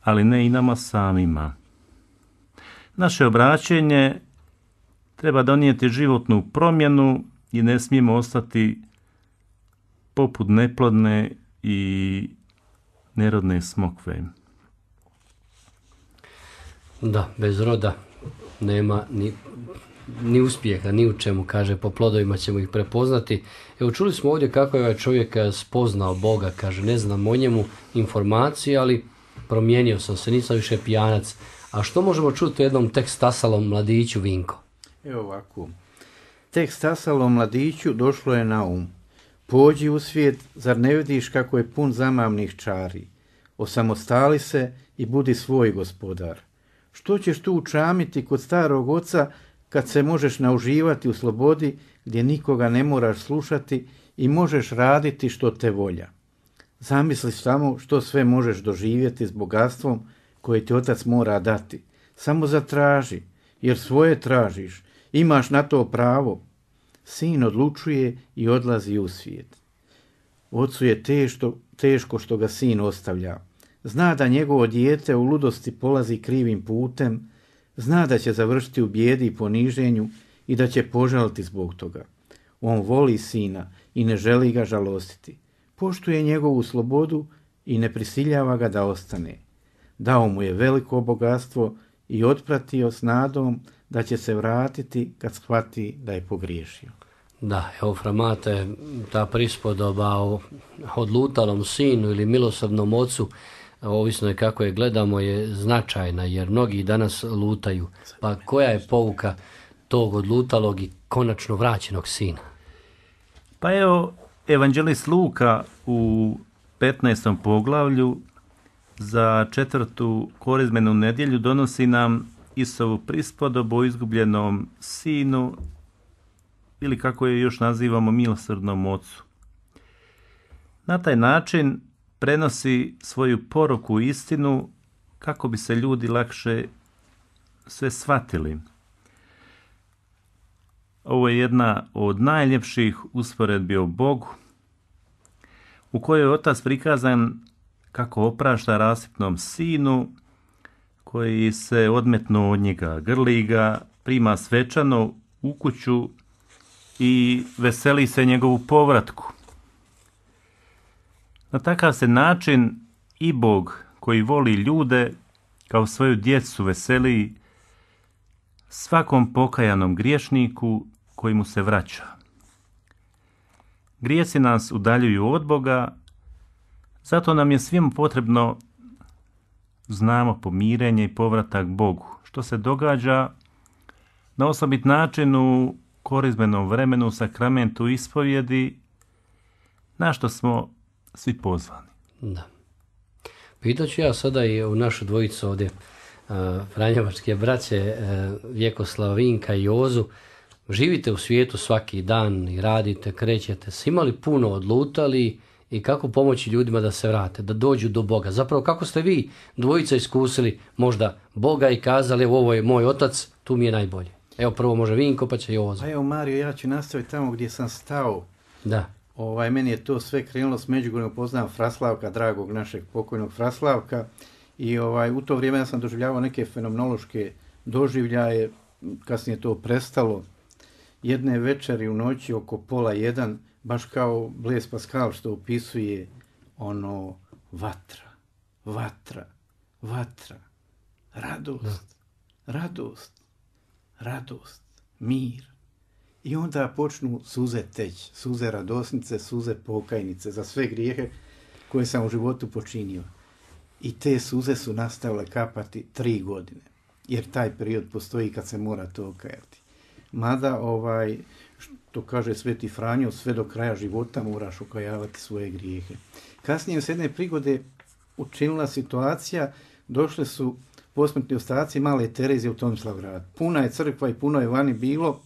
ali ne i nama samima. Naše obraćenje treba donijeti životnu promjenu i ne smijemo ostati poput neplodne i nerodne smokve. Da, bez roda nema ni uspjeha, ni u čemu, kaže, po plodovima ćemo ih prepoznati. Evo, čuli smo ovdje kako je ovaj čovjek spoznao Boga, kaže, ne znam o njemu informacije, ali promijenio sam se, nisam više pijanac. A što možemo čuti u jednom tek stasalom mladiću, Vinko? Evo ovako. Tek stasalom mladiću došlo je na um. Pođi u svijet, zar ne vidiš kako je pun zamamnih čari? Osamostali se i budi svoj gospodar. Što ćeš tu učamiti kod starog oca kad se možeš nauživati u slobodi gdje nikoga ne moraš slušati i možeš raditi što te volja? Zamisli samo što sve možeš doživjeti s bogatstvom koje ti otac mora dati. Samo zatraži, jer svoje tražiš. Imaš na to pravo. Sin odlučuje i odlazi u svijet. Ocu je teško što ga sin ostavlja. Zna da njegovo dijete u ludosti polazi krivim putem, zna da će završiti u bijedi i poniženju i da će požaliti zbog toga. On voli sina i ne želi ga žalostiti. Poštuje njegovu slobodu i ne prisiljava ga da ostane. Dao mu je veliko bogatstvo i otpratio s nadom da će se vratiti kad shvati da je pogriješio. Da, evo Framate, ta prispodoba o odlutalom sinu ili milosrdnom ocu, ovisno je kako je gledamo, je značajna jer mnogi danas lutaju. Pa koja je pouka tog odlutalog i konačno vraćenog sina? Pa evo, evanđelist Luka u 15. poglavlju za 4. korizmenu nedjelju donosi nam Isusovu prispodobu o izgubljenom sinu ili kako je još nazivamo milosrdnom ocu. Na taj način prenosi svoju poruku i istinu kako bi se ljudi lakše sve shvatili. Ovo je jedna od najljepših usporedbi o Bogu, u kojoj je otac prikazan kako oprašta rasipnom sinu koji se odmetnuo od njega, grli ga, prima svečano u kuću i veseli se njegovu povratku. Na takav se način i Bog koji voli ljude kao svoju djecu veseli svakom pokajanom griješniku koji mu se vraća. Grijesi nas udaljuju od Boga, zato nam je svima potrebno, znamo, pomirenje i povratak Bogu, što se događa na osobit način u korizmenom vremenu, sakramentu ispovjedi, na što smo svi pozvani. Da. Pitaću ja sada i u našu dvojicu ovdje, franjevačke braće, Vjekoslava, Vinka i Jozu. Živite u svijetu svaki dan i radite, krećete. Si imali puno odlutali i kako pomoći ljudima da se vrate, da dođu do Boga? Zapravo kako ste vi dvojica iskusili možda Boga i kazali evo ovo je moj otac, tu mi je najbolje? Evo prvo može Vinko pa će Jozo. Pa evo Mario, ja ću nastaviti tamo gdje sam stao. Da. Meni je to sve krenulo s Međugorjem, poznam Fraslavka, dragog našeg pokojnog Fraslavka. I u to vrijeme ja sam doživljavao neke fenomenološke doživljaje, kasnije to prestalo. Jedne večeri u noći oko 12:30, baš kao Blaise Pascal što opisuje vatra, vatra, vatra, radost, radost, radost, mir. I onda počnu suze teći, suze radosnice, suze pokajnice za sve grijehe koje sam u životu počinio. I te suze su nastavile kapati 3 godine, jer taj period postoji kad se mora to okajati. Mada, što kaže Sveti Franjo, sve do kraja života moraš okajavati svoje grijehe. Kasnije s jedne prigode učinila situacija, došle su posmrtni ostaci male Terezije u Tomislavgrad. Puna je crkva i puno je vani bilo.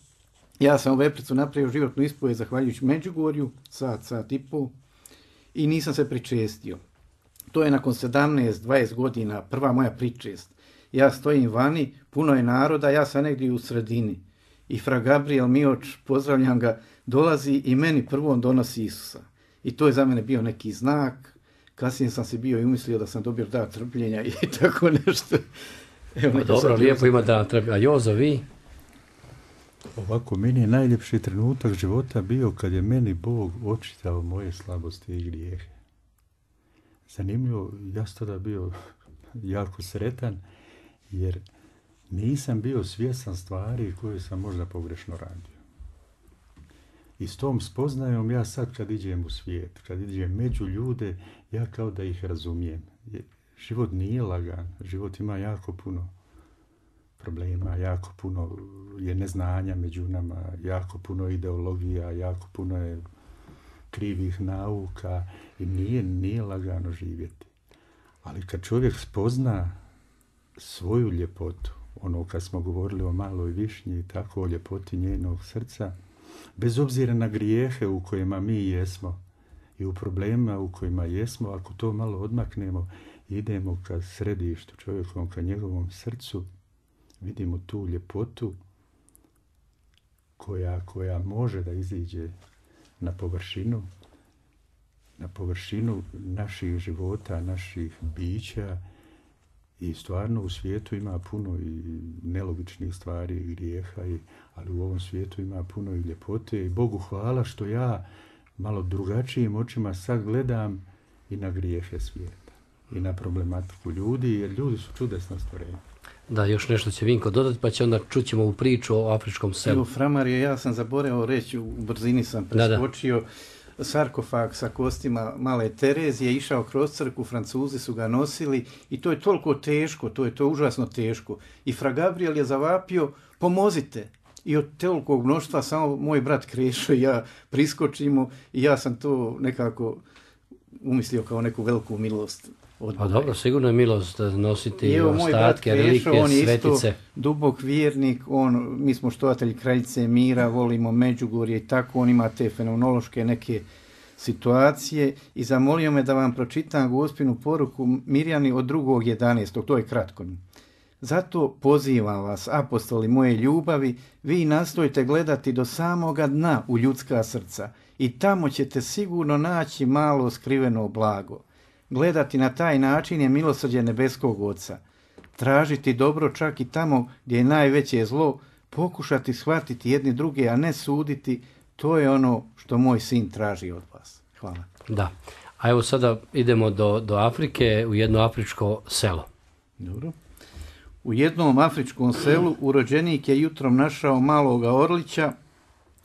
Ja sam u Vepricu napravio životnu ispovijed zahvaljujući Međugorju, sat i pol, i nisam se pričestio. To je nakon 17-20 godina prva moja pričest. Ja stojim vani, puno je naroda, ja sam negdje u sredini. I fra Gabriel Mioč, pozdravljam ga, dolazi i meni prvom donosi Isusa. I to je za mene bio neki znak. Kasnije sam se bio i umislio da sam dobio dar trpljenja i tako nešto. Evo, dobro, lijepo ima dar trpljenja. A Jozo, vi? Ovako, meni je najljepši trenutak života bio kad je meni Bog očitao moje slabosti i grijehe. Zanimljivo, ja sam tada bio jako sretan, jer nisam bio svjestan stvari koje sam možda pogrešno radio. I s tom spoznajom ja sad kad iđem u svijet, kad iđem među ljude, ja kao da ih razumijem. Život nije lagan, život ima jako puno problema, jako puno je neznanja među nama, jako puno ideologija, jako puno je krivih nauka i nije lagano živjeti. Ali kad čovjek spozna svoju ljepotu, kad smo govorili o maloj višnji, tako o ljepoti njenog srca, bez obzira na grijehe u kojima mi jesmo i u problemima u kojima jesmo, ako to malo odmaknemo, idemo ka središtu čovjekom, ka njegovom srcu, vidimo tu ljepotu koja može da iziđe na površinu naših života, naših bića. I stvarno u svijetu ima puno i nelogičnih stvari i grijeha, ali u ovom svijetu ima puno i ljepote. I Bogu hvala što ja malo drugačijim očima sad gledam i na grijehe svijeta i na problematiku ljudi, jer ljudi su čudesna stvorenja. Da, još nešto će Vinko dodati, pa će onda čućemo u priču o afričkom selu. Evo, Framarije, ja sam zaboravio reći, u brzini sam preskočio, sarkofag sa kostima male Terezije, išao kroz crkvu, Francuzi su ga nosili i to je toliko teško, to je užasno teško. I fra Gabriel je zavapio, pomozite. I od tolikog mnoštva samo moj brat Krešo i ja priskočimo i ja sam to nekako umislio kao neku veliku milost. Pa dobro, sigurno je milost nositi ostatke, relikvije, svetice. On je isto dubok vjernik, mi smo štovatelji Kraljice mira, volimo Međugorje i tako, on ima te fenomenološke neke situacije i zamolio me da vam pročitam Gospinu poruku Mirjani od 2.11. To je kratko. Zato pozivam vas, apostoli moje ljubavi, vi nastojite gledati do samoga dna u ljudska srca i tamo ćete sigurno naći malo skriveno blago. Gledati na taj način je milosrđe nebeskog Oca. Tražiti dobro čak i tamo gdje je najveće zlo, pokušati shvatiti jedni druge, a ne suditi, to je ono što moj sin traži od vas. Hvala. Da. A evo sada idemo do Afrike, u jedno afričko selo. Dobro. U jednom afričkom selu urođenik je jutrom našao maloga orlića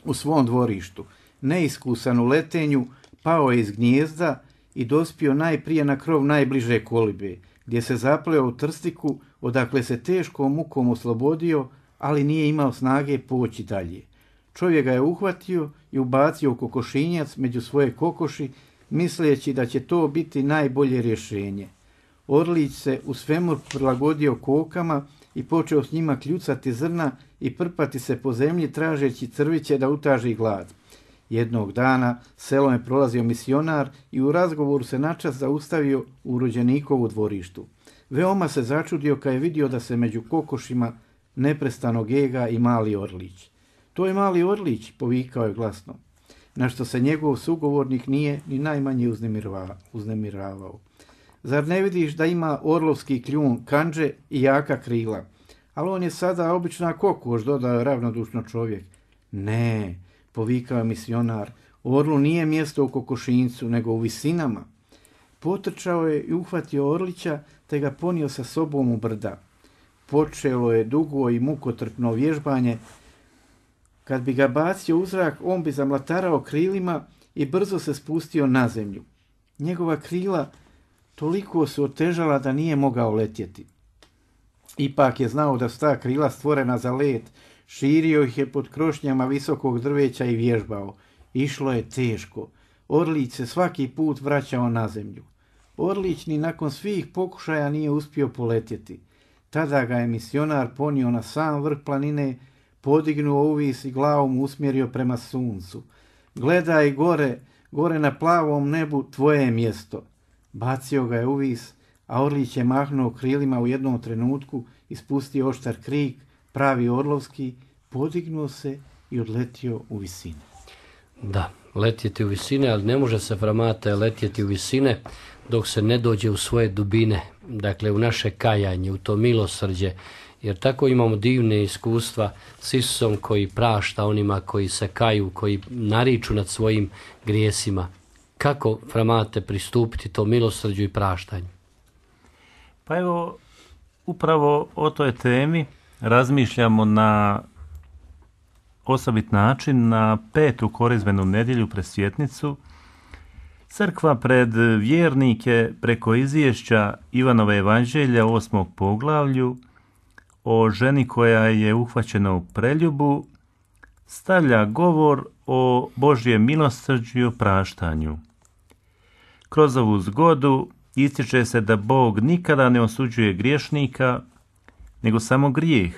u svom dvorištu. Neiskusan u letenju, pao je iz gnijezda i dospio najprije na krov najbliže kolibe, gdje se zapleo u trstiku, odakle se teškom mukom oslobodio, ali nije imao snage poći dalje. Čovjek ga je uhvatio i ubacio u kokošinjac među svoje kokoši, misleći da će to biti najbolje rješenje. Orlić se u svemir prilagodio kokama i počeo s njima kljucati zrna i prpati se po zemlji tražeći crviće da utaži glad. Jednog dana selom je prolazio misionar i u razgovoru se načas zaustavio u rođenikovu dvorištu. Veoma se začudio kad je vidio da se među kokošima neprestano gega i mali orlić. To je mali orlić, povikao je glasno, na što se njegov sugovornik nije ni najmanje uznemiravao. Zar ne vidiš da ima orlovski kljun, kandže i jaka krila? Ali on je sada obična kokoš, dodao je ravnodušno čovjek. Ne, povikao je misionar, orlu nije mjesto u kokošincu, nego u visinama. Potrčao je i uhvatio orlića, te ga ponio sa sobom u brda. Počelo je dugo i mukotrpno vježbanje. Kad bi ga bacio u zrak, on bi zamlatarao krilima i brzo se spustio na zemlju. Njegova krila toliko su otežala da nije mogao letjeti. Ipak je znao da su ta krila stvorena za let, širio ih je pod krošnjama visokog drveća i vježbao. Išlo je teško. Orlić se svaki put vraćao na zemlju. Orlić ni nakon svih pokušaja nije uspio poletjeti. Tada ga je misionar ponio na sam vrh planine, podignuo uvis i glavom usmjerio prema suncu. Gledaj gore, gore na plavom nebu, tvoje je mjesto. Bacio ga je uvis, a orlić je mahnuo krilima u jednom trenutku, ispustio oštar krik, pravi orlovski, podignuo se i odletio u visine. Da, letjeti u visine, ali ne može se, Framate, letjeti u visine dok se ne dođe u svoje dubine, dakle u naše kajanje, u to milosrđe, jer tako imamo divne iskustva s Isusom koji prašta onima koji se kaju, koji nariču nad svojim grijesima. Kako, Framate, pristupiti to milosrđu i praštanju? Pa evo, upravo o toj temi razmišljamo na osobit način na 5. korizmenu nedjelju Presvjetnicu. Crkva pred vjernike preko izvješća Ivanove evanđelja 8. poglavlju o ženi koja je uhvaćena u preljubu stavlja govor o Božjem milosrđu i opraštanju. Kroz ovu zgodu ističe se da Bog nikada ne osuđuje griješnika, nego samo grijeh,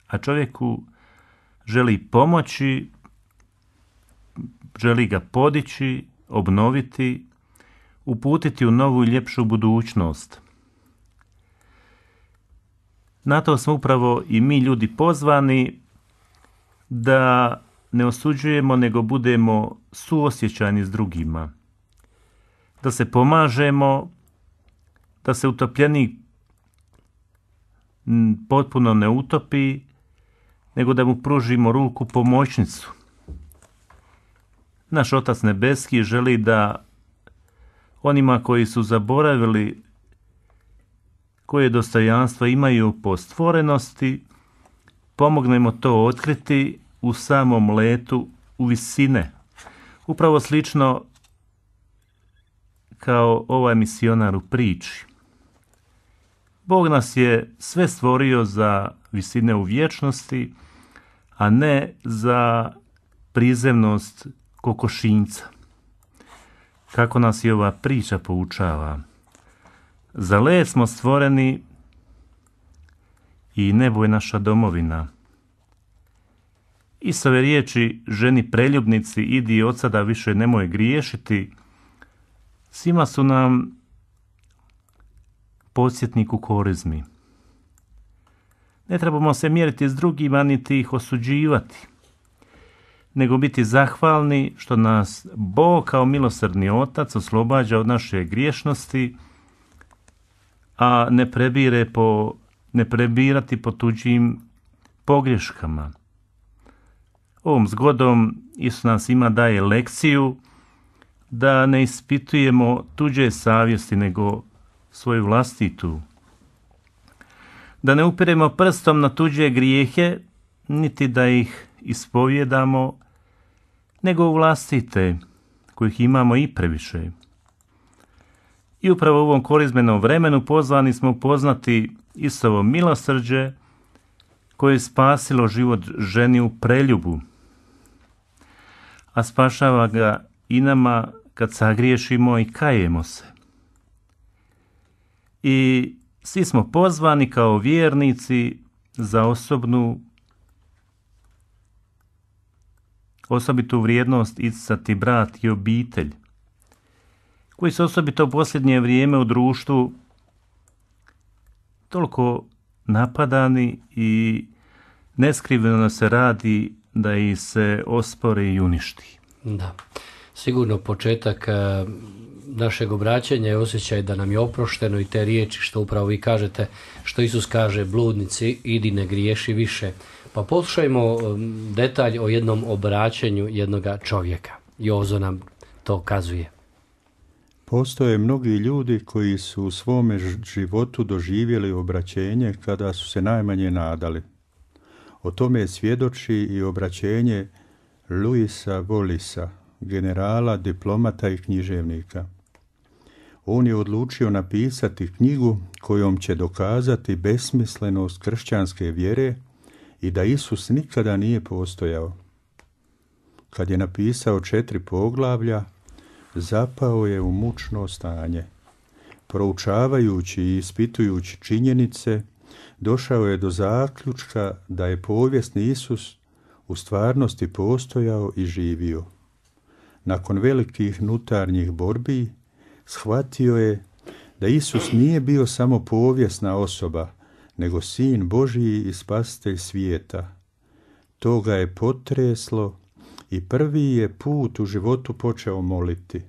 a čovjeku želi pomoći, želi ga podići, obnoviti, uputiti u novu i ljepšu budućnost. Na to smo upravo i mi ljudi pozvani, da ne osuđujemo, nego budemo suosjećajni s drugima. Da se pomažemo, da se utopljenik potpuno ne utopi, nego da mu pružimo ruku pomoćnicu. Naš Otac Nebeski želi da onima koji su zaboravili koje dostojanstvo imaju po stvorenosti, pomognemo to otkriti u samom letu u visine. Upravo slično kao ovaj misionar u priči. Bog nas je sve stvorio za visine u vječnosti, a ne za prizemnost kokošinjca. Kako nas i ova priča poučava. Za let smo stvoreni i nebo je naša domovina. Isove riječi ženi preljubnici, idi od sada više nemoj griješiti, svima su nam podsjetnik u korizmi. Ne trebamo se mjeriti s drugima niti ih osuđivati, nego biti zahvalni što nas Bog kao milosrdni otac oslobađa od naše griješnosti, a ne prebirati po tuđim pogreškama. Ovom zgodom Isus nas ima daje lekciju da ne ispitujemo tuđe savjesti, nego svoju vlastitu. Da ne upiremo prstom na tuđe grijehe, niti da ih ispovjedamo, nego u vlastite, kojih imamo i previše. I upravo u ovom korizmenom vremenu pozvani smo upoznati Isusovo milosrđe, koje je spasilo život ženi u preljubu, a spašava ga i nama kad sagriješimo i kajemo se. I svi smo pozvani kao vjernici za osobitu vrijednost isticati brat i obitelj, koji se osobito u posljednje vrijeme u društvu toliko napadani i neskriveno se radi da ih se ospore i uništi. Da, sigurno početak našeg obraćanja je osjećaj da nam je oprošteno i te riječi što upravo vi kažete, što Isus kaže bludnici, idi ne griješi više. Pa poslušajmo detalj o jednom obraćanju jednoga čovjeka. Jozo nam to kazuje. Postoje mnogi ljudi koji su u svome životu doživjeli obraćenje kada su se najmanje nadali. O tome svjedoči i obraćenje Louisa Wallisa, generala, diplomata i književnika. On je odlučio napisati knjigu kojom će dokazati besmislenost kršćanske vjere i da Isus nikada nije postojao. Kad je napisao 4 poglavlja, zapao je u mučno stanje. Proučavajući i ispitujući činjenice, došao je do zaključka da je povijesni Isus u stvarnosti postojao i živio. Nakon velikih unutarnjih borbi, shvatio je da Isus nije bio samo povijesna osoba, nego Sin Božji i Spasitelj svijeta. To ga je potreslo i prvi je put u životu počeo moliti.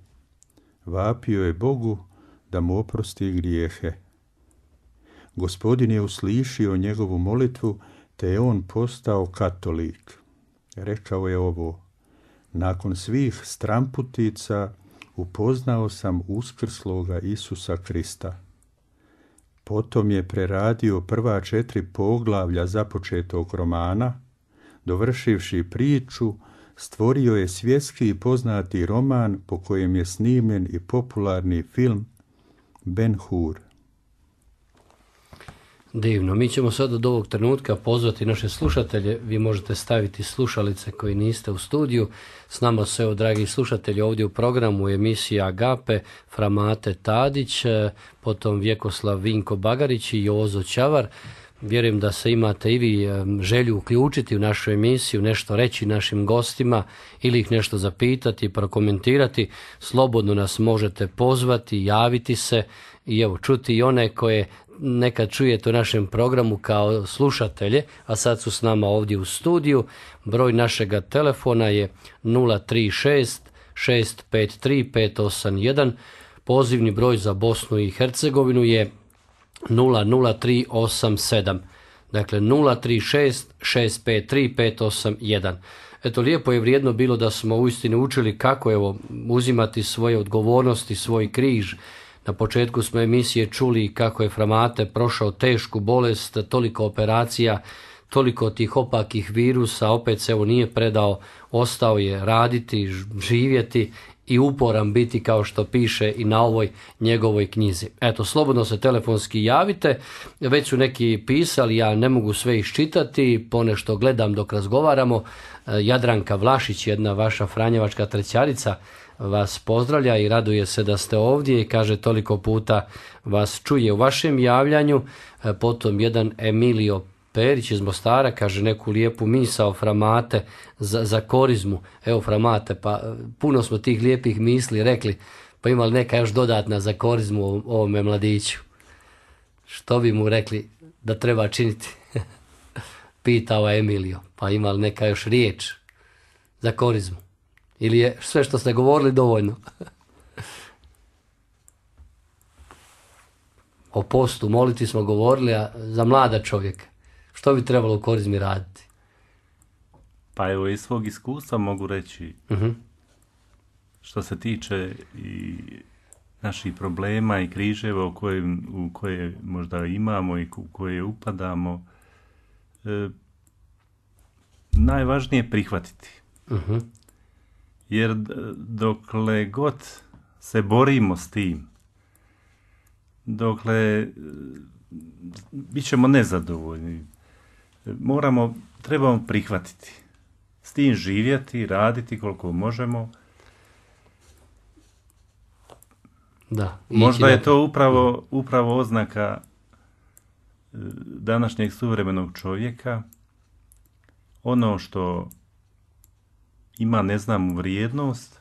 Vapio je Bogu da mu oprosti grijehe. Gospodin je uslišio njegovu molitvu, te je on postao katolik. Rekao je ovo: nakon svih stramputica upoznao sam uskrsloga Isusa Krista. Potom je preradio prva 4 poglavlja započetog romana, dovršivši priču, stvorio je svjetski poznati roman po kojem je snimljen i popularni film Ben-Hur. Divno. Mi ćemo sad od ovog trenutka pozvati naše slušatelje. Vi možete staviti slušalice koji niste u studiju. S nama su, evo, dragi slušatelji, ovdje u programu emisiji Agape, fra Mate Tadić, potom Vjekoslav Vinko Bagarić i Jozo Čavar. Vjerujem da se imate i vi želju uključiti u našu emisiju, nešto reći našim gostima ili ih nešto zapitati, prokomentirati. Slobodno nas možete pozvati, javiti se i evo čuti i one koje nekad čujete u našem programu kao slušatelje, a sad su s nama ovdje u studiju. Broj našega telefona je 036 653 581. Pozivni broj za Bosnu i Hercegovinu je 00387. Dakle 036 653 581. Eto, lijepo je vrijedno bilo da smo uistinu učili kako uzimati svoje odgovornosti, svoj križ, Na početku smo emisije čuli kako je Framate prošao tešku bolest, toliko operacija, toliko tih opakih virusa, opet se evo nije predao, ostao je raditi, živjeti i uporan biti, kao što piše i na ovoj njegovoj knjizi. Eto, slobodno se telefonski javite, već su neki pisali, ja ne mogu sve iščitati, ponešto gledam dok razgovaramo. Jadranka Vlašić, jedna vaša franjevačka trećarica, vas pozdravlja i raduje se da ste ovdje i kaže toliko puta vas čuje u vašem javljanju. Potom jedan Emilio Perić iz Mostara kaže neku lijepu misao Framate za korizmu. Evo Framate, pa puno smo tih lijepih misli rekli, pa ima li neka još dodatna za korizmu ovome mladiću? Što bi mu rekli da treba činiti? Pitao Emilio, pa ima li neka još riječ za korizmu? Ili je sve što ste govorili dovoljno? O postu, moliti smo govorili, a za mlada čovjeka. Što bi trebalo u korizmi raditi? Pa evo, iz svog iskustva mogu reći, što se tiče i naših problema i križeva u koje možda imamo i u koje upadamo, najvažnije je prihvatiti. Jer dokle god se borimo s tim, dokle bit ćemo nezadovoljni, trebamo prihvatiti. S tim živjeti, raditi koliko možemo. Da, možda je to upravo oznaka današnjeg suvremenog čovjeka. Ono što ima neznanu vrijednost,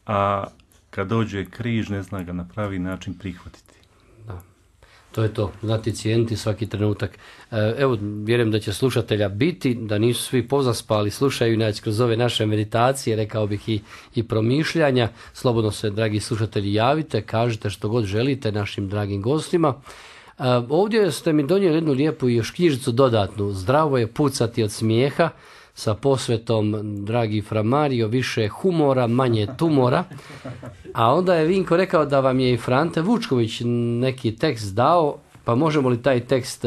a kad dođe križ ne zna ga na pravi način prihvatiti. Da. To je to, znati cijeniti svaki trenutak. Evo, vjerujem da će slušatelja biti, da nisu svi pozaspali, slušaju inače kroz ove naše meditacije, rekao bih i promišljanja. Slobodno se, dragi slušatelji, javite, kažite što god želite našim dragim gostima. Ovdje ste mi donijeli jednu lijepu i još knjižicu dodatnu. Zdravo je pucati od smijeha, sa posvetom, dragi Fra Mario, više humora, manje tumora. A onda je Vinko rekao da vam je i Frante Vučković neki tekst dao, pa možemo li taj tekst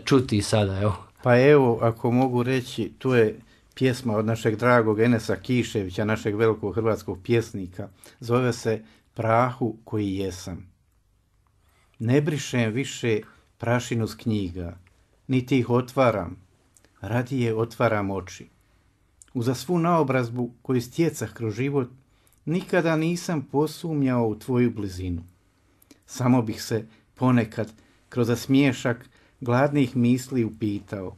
čuti sada? Evo. Pa evo, ako mogu reći, tu je pjesma od našeg dragog Enesa Kiševića, našeg velikog hrvatskog pjesnika. Zove se Prahu koji jesam. Ne brišem više prašinu s knjiga, niti ih otvaram, radije otvaram oči. Uza svu naobrazbu koju stjecah kroz život, nikada nisam posumnjao u tvoju blizinu. Samo bih se ponekad kroz smiješak gladnih misli upitao.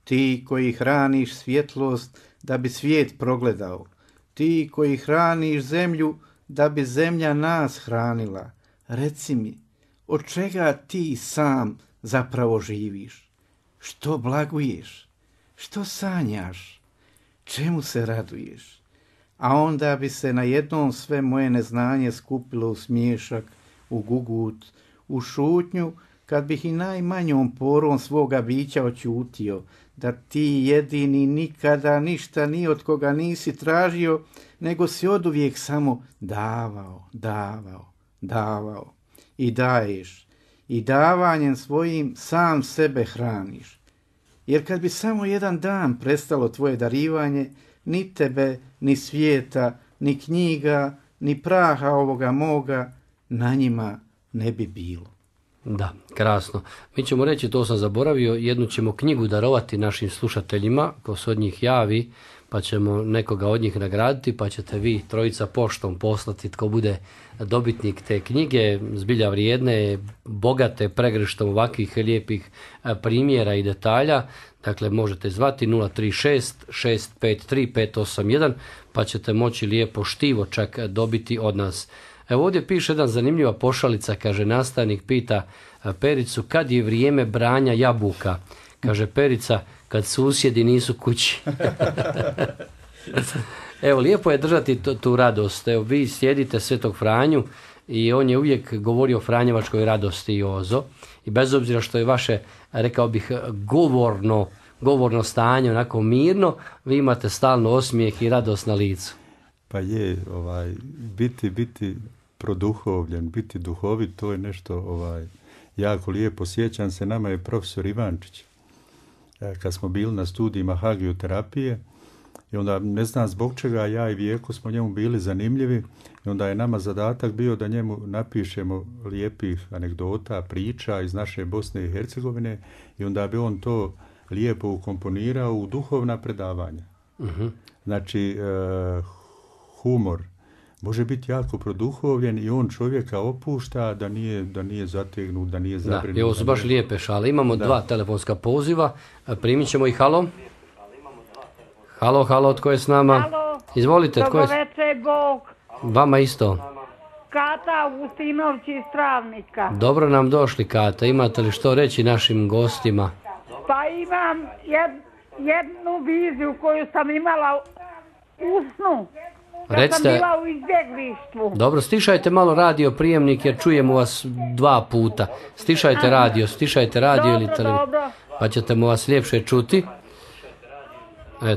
Ti koji hraniš svjetlost da bi svijet progledao, ti koji hraniš zemlju da bi zemlja nas hranila, reci mi, od čega ti sam zapravo živiš? Što blaguješ? Što sanjaš? Čemu se raduješ? A onda bi se na jednom sve moje neznanje skupilo u smiješak, u gugut, u šutnju, kad bih i najmanjom porom svoga bića oćutio, da ti jedini nikada ništa ni od koga nisi tražio, nego si oduvijek samo davao i daješ. I davanjem svojim sam sebe hraniš. Jer kad bi samo jedan dan prestalo tvoje darivanje, ni tebe, ni svijeta, ni knjiga, ni praha ovoga moga, na njima ne bi bilo. Da, krasno. Mi ćemo reći, to sam zaboravio, jednu ćemo knjigu darovati našim slušateljima, ko se od njih javi, pa ćemo nekoga od njih nagraditi, pa ćete vi trojica poštom poslati tko bude dobitnik te knjige, zbilja vrijedne, bogate pregrštom ovakvih lijepih primjera i detalja. Dakle, možete zvati 036 653 581, pa ćete moći lijepo štivo čak dobiti od nas. Evo ovdje piše jedna zanimljiva pošalica, kaže nastavnik, pita Pericu, kad je vrijeme branja jabuka? Kaže Perica, kad susjedi nisu kući. Evo, lijepo je držati tu radost. Evo, vi sjedite Svetog Franju i on je uvijek govorio o franjevačkoj radosti, Jozo. I bez obzira što je vaše, rekao bih, govorno stanje, onako mirno, vi imate stalno osmijeh i radost na licu. Pa je, biti produhovljen, biti duhovit, to je nešto jako lijepo. Sjećam se, nama je profesor Ivančić, kad smo bili na studijima hagioterapije, i onda ne znam zbog čega ja i Vijeko smo njemu bili zanimljivi, i onda je nama zadatak bio da njemu napišemo lijepih anegdota, priča iz naše Bosne i Hercegovine, i onda bi on to lijepo ukomponirao u duhovna predavanja. Znači, humor može biti jako produhovljen i on čovjeka opušta da nije zategnut, da nije zabrinut. Da, ovo su baš lijepe šale. Imamo dva telefonska poziva. Primit ćemo ih. Halo? Halo, tko je s nama? Halo, izvolite, tko je? Dobro večer, Bog. Vama isto. Kata Augustinović iz Travnika. Dobro nam došli, Kata. Imate li što reći našim gostima? Pa imam jednu viziju koju sam imala u snu. Kad sam bila u izbjeglištvu. Dobro, stišajte malo radio prijemnik jer čujemo vas 2 puta. Stišajte radio ili televiziju. Dobro. Pa ćete vas ljepše čuti.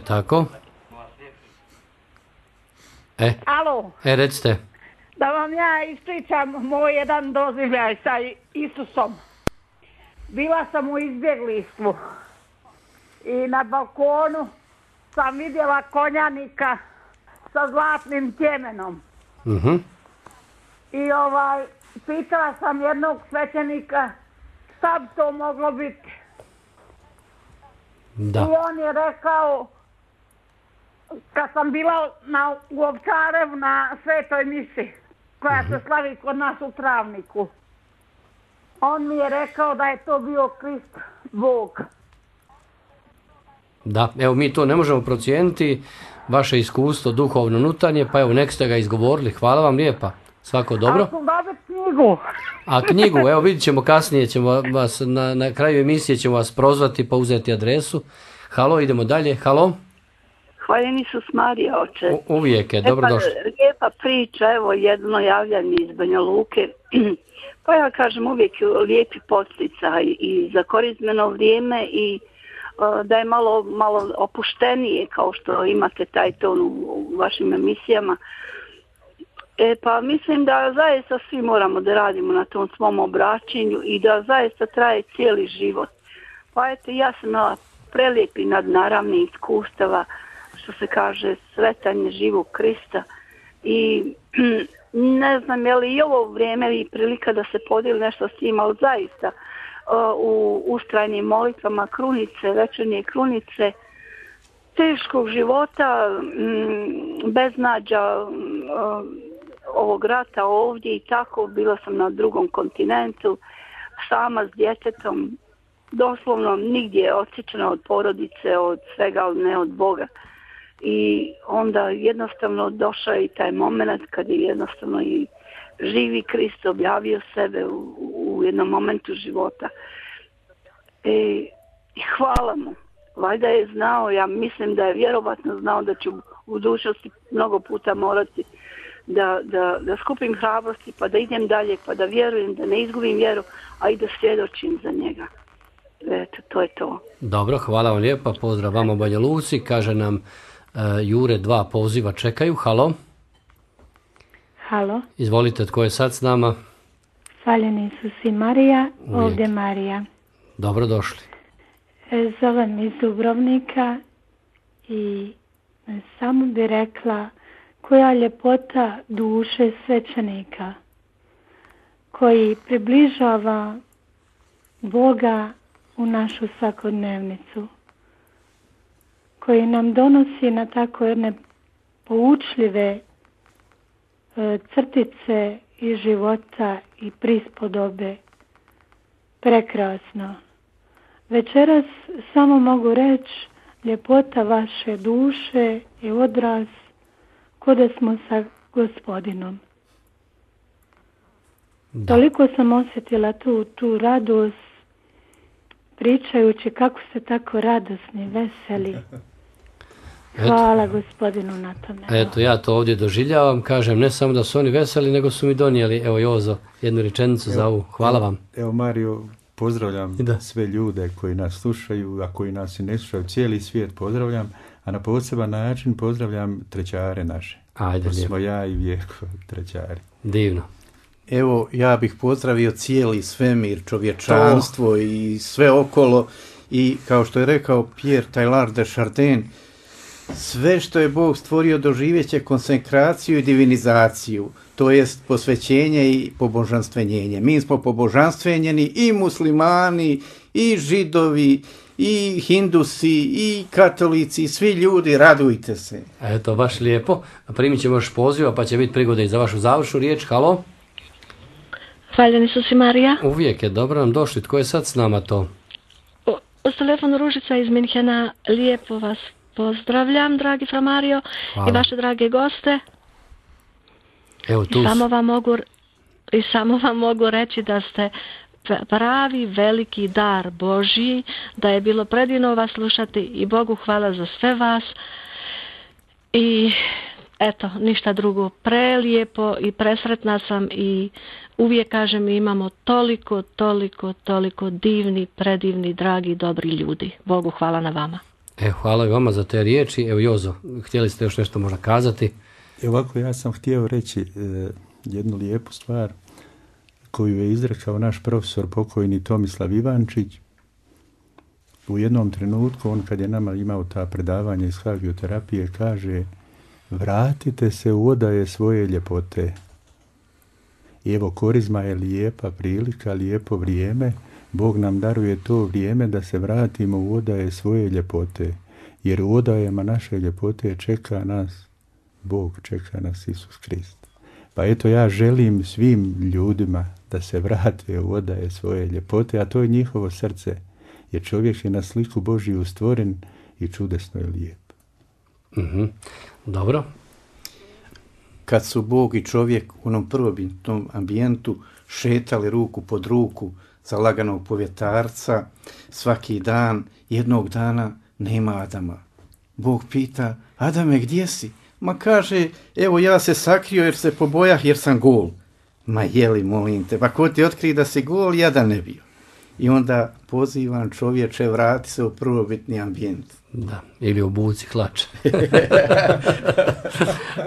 Tako. Alo. Recite. Da vam ja ispričam moj jedan doživljaj sa Isusom. Bila sam u izbjeglištvu i na balkonu sam vidjela konjanika sa zlatnim tjemenom. I pitala sam jednog svećenika šta bi to moglo biti. Da. I on je rekao, kad sam bila u Ovčarevu na svetoj misi, koja se slavi kod nas u Travniku, on mi je rekao da je to bio Krist, Bog. Da, evo mi to ne možemo procijeniti, vaše iskustvo duhovno unutarnje, pa evo nek ste ga izgovorili. Hvala vam lijepa. Svako dobro. A ću dobiti knjigu. A knjigu, evo vidit ćemo kasnije, ćemo vas, na kraju emisije ćemo vas prozvati pa uzeti adresu. Halo, idemo dalje. Halo. Hvaljen Isus Marija, oče. Uvijek je, dobrodošli. Lijepa priča, evo jedno javljanje iz Banja Luke. Pa ja kažem uvijek lijepi podsticaj i za korizmeno vrijeme i da je malo opuštenije kao što imate taj ton u vašim emisijama. Pa mislim da zaista svi moramo da radimo na tom svom obraćenju i da zaista traje cijeli život. Pa eto, ja sam imala prelijepi nadnaravni iskustava, što se kaže, sretanje živog Krista i ne znam je li i ovo vrijeme i prilika da se podijeli nešto s njima, ali zaista u ustrajnim molitvama krunice, večernje krunice, teškog života, beznađa ovog rata ovdje i tako, bila sam na drugom kontinentu, sama s djetetom, doslovno nigdje odsječena od porodice, od svega, ali ne od Boga. I onda jednostavno došao i taj moment kad je jednostavno i živi Krist objavio sebe u jednom momentu života. I hvala mu. Valjda je znao, ja mislim da je vjerovatno znao da ću u budućnosti mnogo puta morati da skupim hrabrosti, pa da idem dalje, pa da vjerujem, da ne izgubim vjeru, a i da svjedočim za njega. Eto, to je to. Dobro, hvala vam lijepa, pozdrav vama u Banja Luci, kaže nam Jure, 2 poziva čekaju. Halo. Halo. Izvolite, tko je sad s nama? Hvaljen Isus i Marija, Uvijek. ovdje Marija. Dobrodošli. Zovem iz Dubrovnika i samo bi rekla koja ljepota duše svećenika koji približava Boga u našu svakodnevnicu, koji nam donosi na tako jedne poučljive crtice iz života i prispodobe. Prekrasno. Večeras samo mogu reći, ljepota vaše duše je odraz ko da smo sa Gospodinom. Da. Toliko sam osjetila tu radost pričajući kako ste tako radosni, veseli. Hvala Gospodinu na tome. Eto, ja to ovdje doživljavam, kažem, ne samo da su oni veseli, nego su mi donijeli, evo Jozo, jednu rečenicu za ovu. Hvala vam. Evo Mario, pozdravljam sve ljude koji nas slušaju, a koji nas i ne slušaju, cijeli svijet pozdravljam. A na poseban način pozdravljam trećare naše. Ajde, To lijepo. smo ja i Vjeko trećari. Divno. Evo, ja bih pozdravio cijeli svemir, čovječanstvo i sve okolo. I kao što je rekao Pierre Teilhard de Chardin, sve što je Bog stvorio doživjet će konsekraciju i divinizaciju, to jest posvećenje i pobožanstvenjenje. Mi smo pobožanstvenjeni i muslimani, i židovi, i hindusi, i katolici, svi ljudi, radujte se. Eto, baš lijepo. Primit ćemo još poziva, pa će biti prigode i za vašu završnu riječ. Halo? Hvaljen Isus i Marija. Uvijek je, dobro nam došli. Tko je sad s nama to? S telefonu Ružica iz Minhena, lijepo vas pozdravljam, dragi Fra Mario, Hvala. i vaše drage goste. Evo tu. Samo vam mogu reći da ste pravi veliki dar Božji, da je bilo predivno vas slušati i Bogu hvala za sve vas. I eto, ništa drugo, prelijepo i presretna sam i uvijek kažem, imamo toliko divni, predivni, dragi, dobri ljudi. Bogu hvala na vama. Hvala i vama za te riječi. Evo Jozo, htjeli ste još nešto možda kazati? Ovako, ja sam htio reći jednu lijepu stvar koju je izrekao naš profesor pokojni Tomislav Ivančić. U jednom trenutku, on kad je nama imao ta predavanja iz hagioterapije, kaže: vratite se u odaje svoje ljepote. I evo, korizma je lijepa prilika, lijepo vrijeme. Bog nam daruje to vrijeme da se vratimo u odaje svoje ljepote. Jer u odajama naše ljepote čeka nas Bog, čeka nas Isus Krist. Pa eto, ja želim svim ljudima da se vrate u odaje svoje ljepote, a to je njihovo srce. Jer čovjek je na sliku Božiju stvoren i čudesno je lijep. Dobro. Kad su Bog i čovjek u onom prvobitnom ambijentu šetali ruku pod ruku za laganog povjetarca, svaki dan, jednog dana nema Adama. Bog pita: Adame, gdje si? Ma kaže: evo, ja se sakrio jer se pobojah jer sam gol. Ma jeli, molim te, pa ko ti otkri da si gol, ja da ne bio. I onda pozivam: čovječe, vrati se u prvobitni ambijent. Da, ili obuci hlače.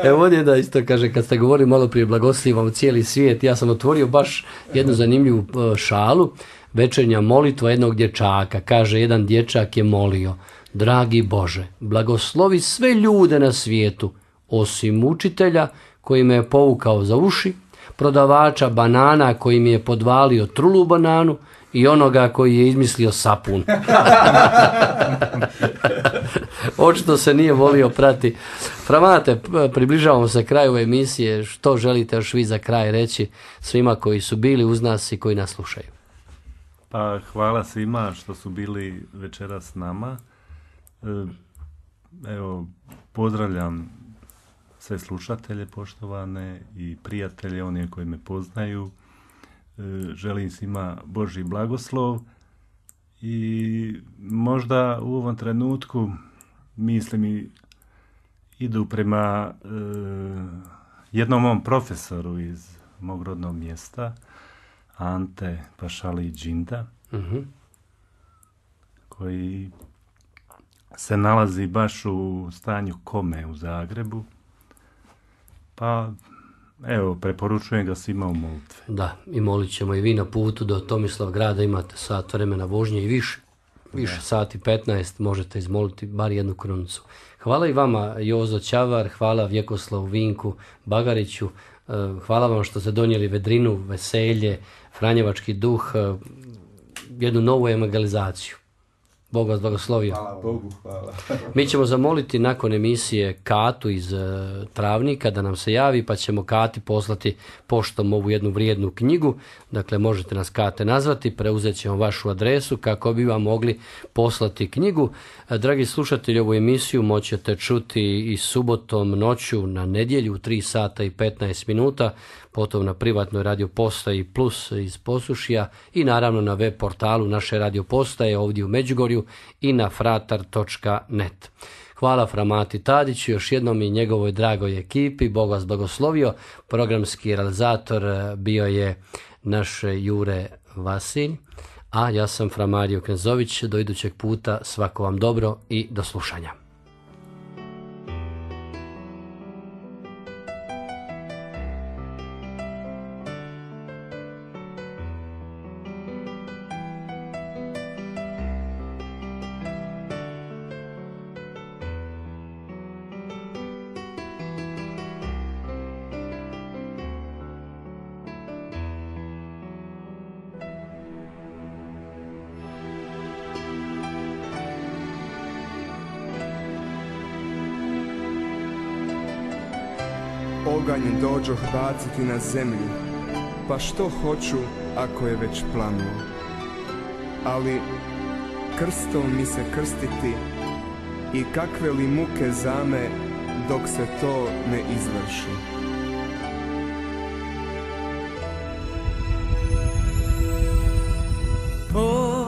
Evo ovdje da isto kaže, kad ste govorili malo prije blagoslivamo cijeli svijet, ja sam otvorio baš jednu zanimljivu šalu. Večernja molitva jednog dječaka. Kaže, jedan dječak je molio: dragi Bože, blagoslovi sve ljude na svijetu, osim učitelja koji me je povukao za uši, prodavača banana koji mi je podvalio trulu bananu i onoga koji je izmislio sapun. Očito se nije volio prati. Framate, približavamo se kraju ove emisije. Što želite još vi za kraj reći svima koji su bili uz nas i koji nas slušaju? Pa hvala svima što su bili večeras s nama. Evo, pozdravljam sve slušatelje poštovane i prijatelje, one koji me poznaju. Želim svima Božji blagoslov i možda u ovom trenutku mislim i idu prema jednom mom profesoru iz mog rodnog mjesta, Ante Pašali Đinda, koji se nalazi baš u stanju kome u Zagrebu. Pa evo, preporučujem ga svima u molitve. Da, i molit ćemo i vi na putu do Tomislavgrada, imate sat vremena vožnje i više sati 15, možete izmoliti bar jednu krunicu. Hvala i vama, Jozo Ćavar, hvala Vjekoslavu Vinku Bagariću, hvala vam što ste donijeli vedrinu, veselje, franjevački duh, jednu novu evangelizaciju. Bog vas blagoslovio. Hvala Bogu, hvala. Mi ćemo zamoliti nakon emisije Katu iz Travnika da nam se javi, pa ćemo Kati poslati poštom ovu jednu vrijednu knjigu. Dakle, možete nas Kate nazvati, preuzet ćemo vašu adresu kako bi vam mogli poslati knjigu. Dragi slušatelji, ovu emisiju moćete čuti i subotom noću na nedjelju u 3 sata i 15 minuta, potom na privatnoj radio postaji Plus iz Posušja i naravno na web portalu naše radio postaje ovdje u Međugorju i na fratar.net. Hvala Framati Tadiću, još jednom i njegovoj dragoj ekipi. Bog vas blagoslovio. Programski realizator bio je naš Jure Vasilj, a ja sam Fra Mario Knezović. Do idućeg puta svako vam dobro i do slušanja. oganj dođoh baciti na zemlju, pa što hoću ako je već planuo. Ali krstom mi se krstiti i kakve li muke zame dok se to ne izvrši. O,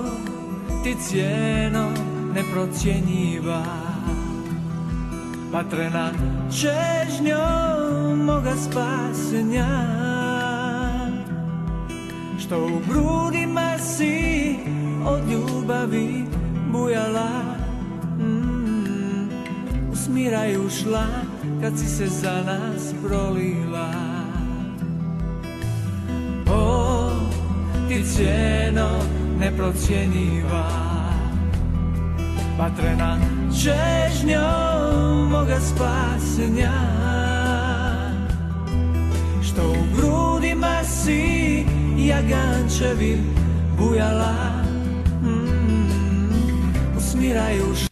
ti cijeno neprocjenjiva, vatrena čežnjom moga spasenja, što u grudima si od ljubavi bujala, usmiraj ušla kad si se za nas prolila. O, ti cijeno neprocjenjiva, vatrena čežnjom moga spasenja, što u grudima si jagančevim bujala, usmiraj ušla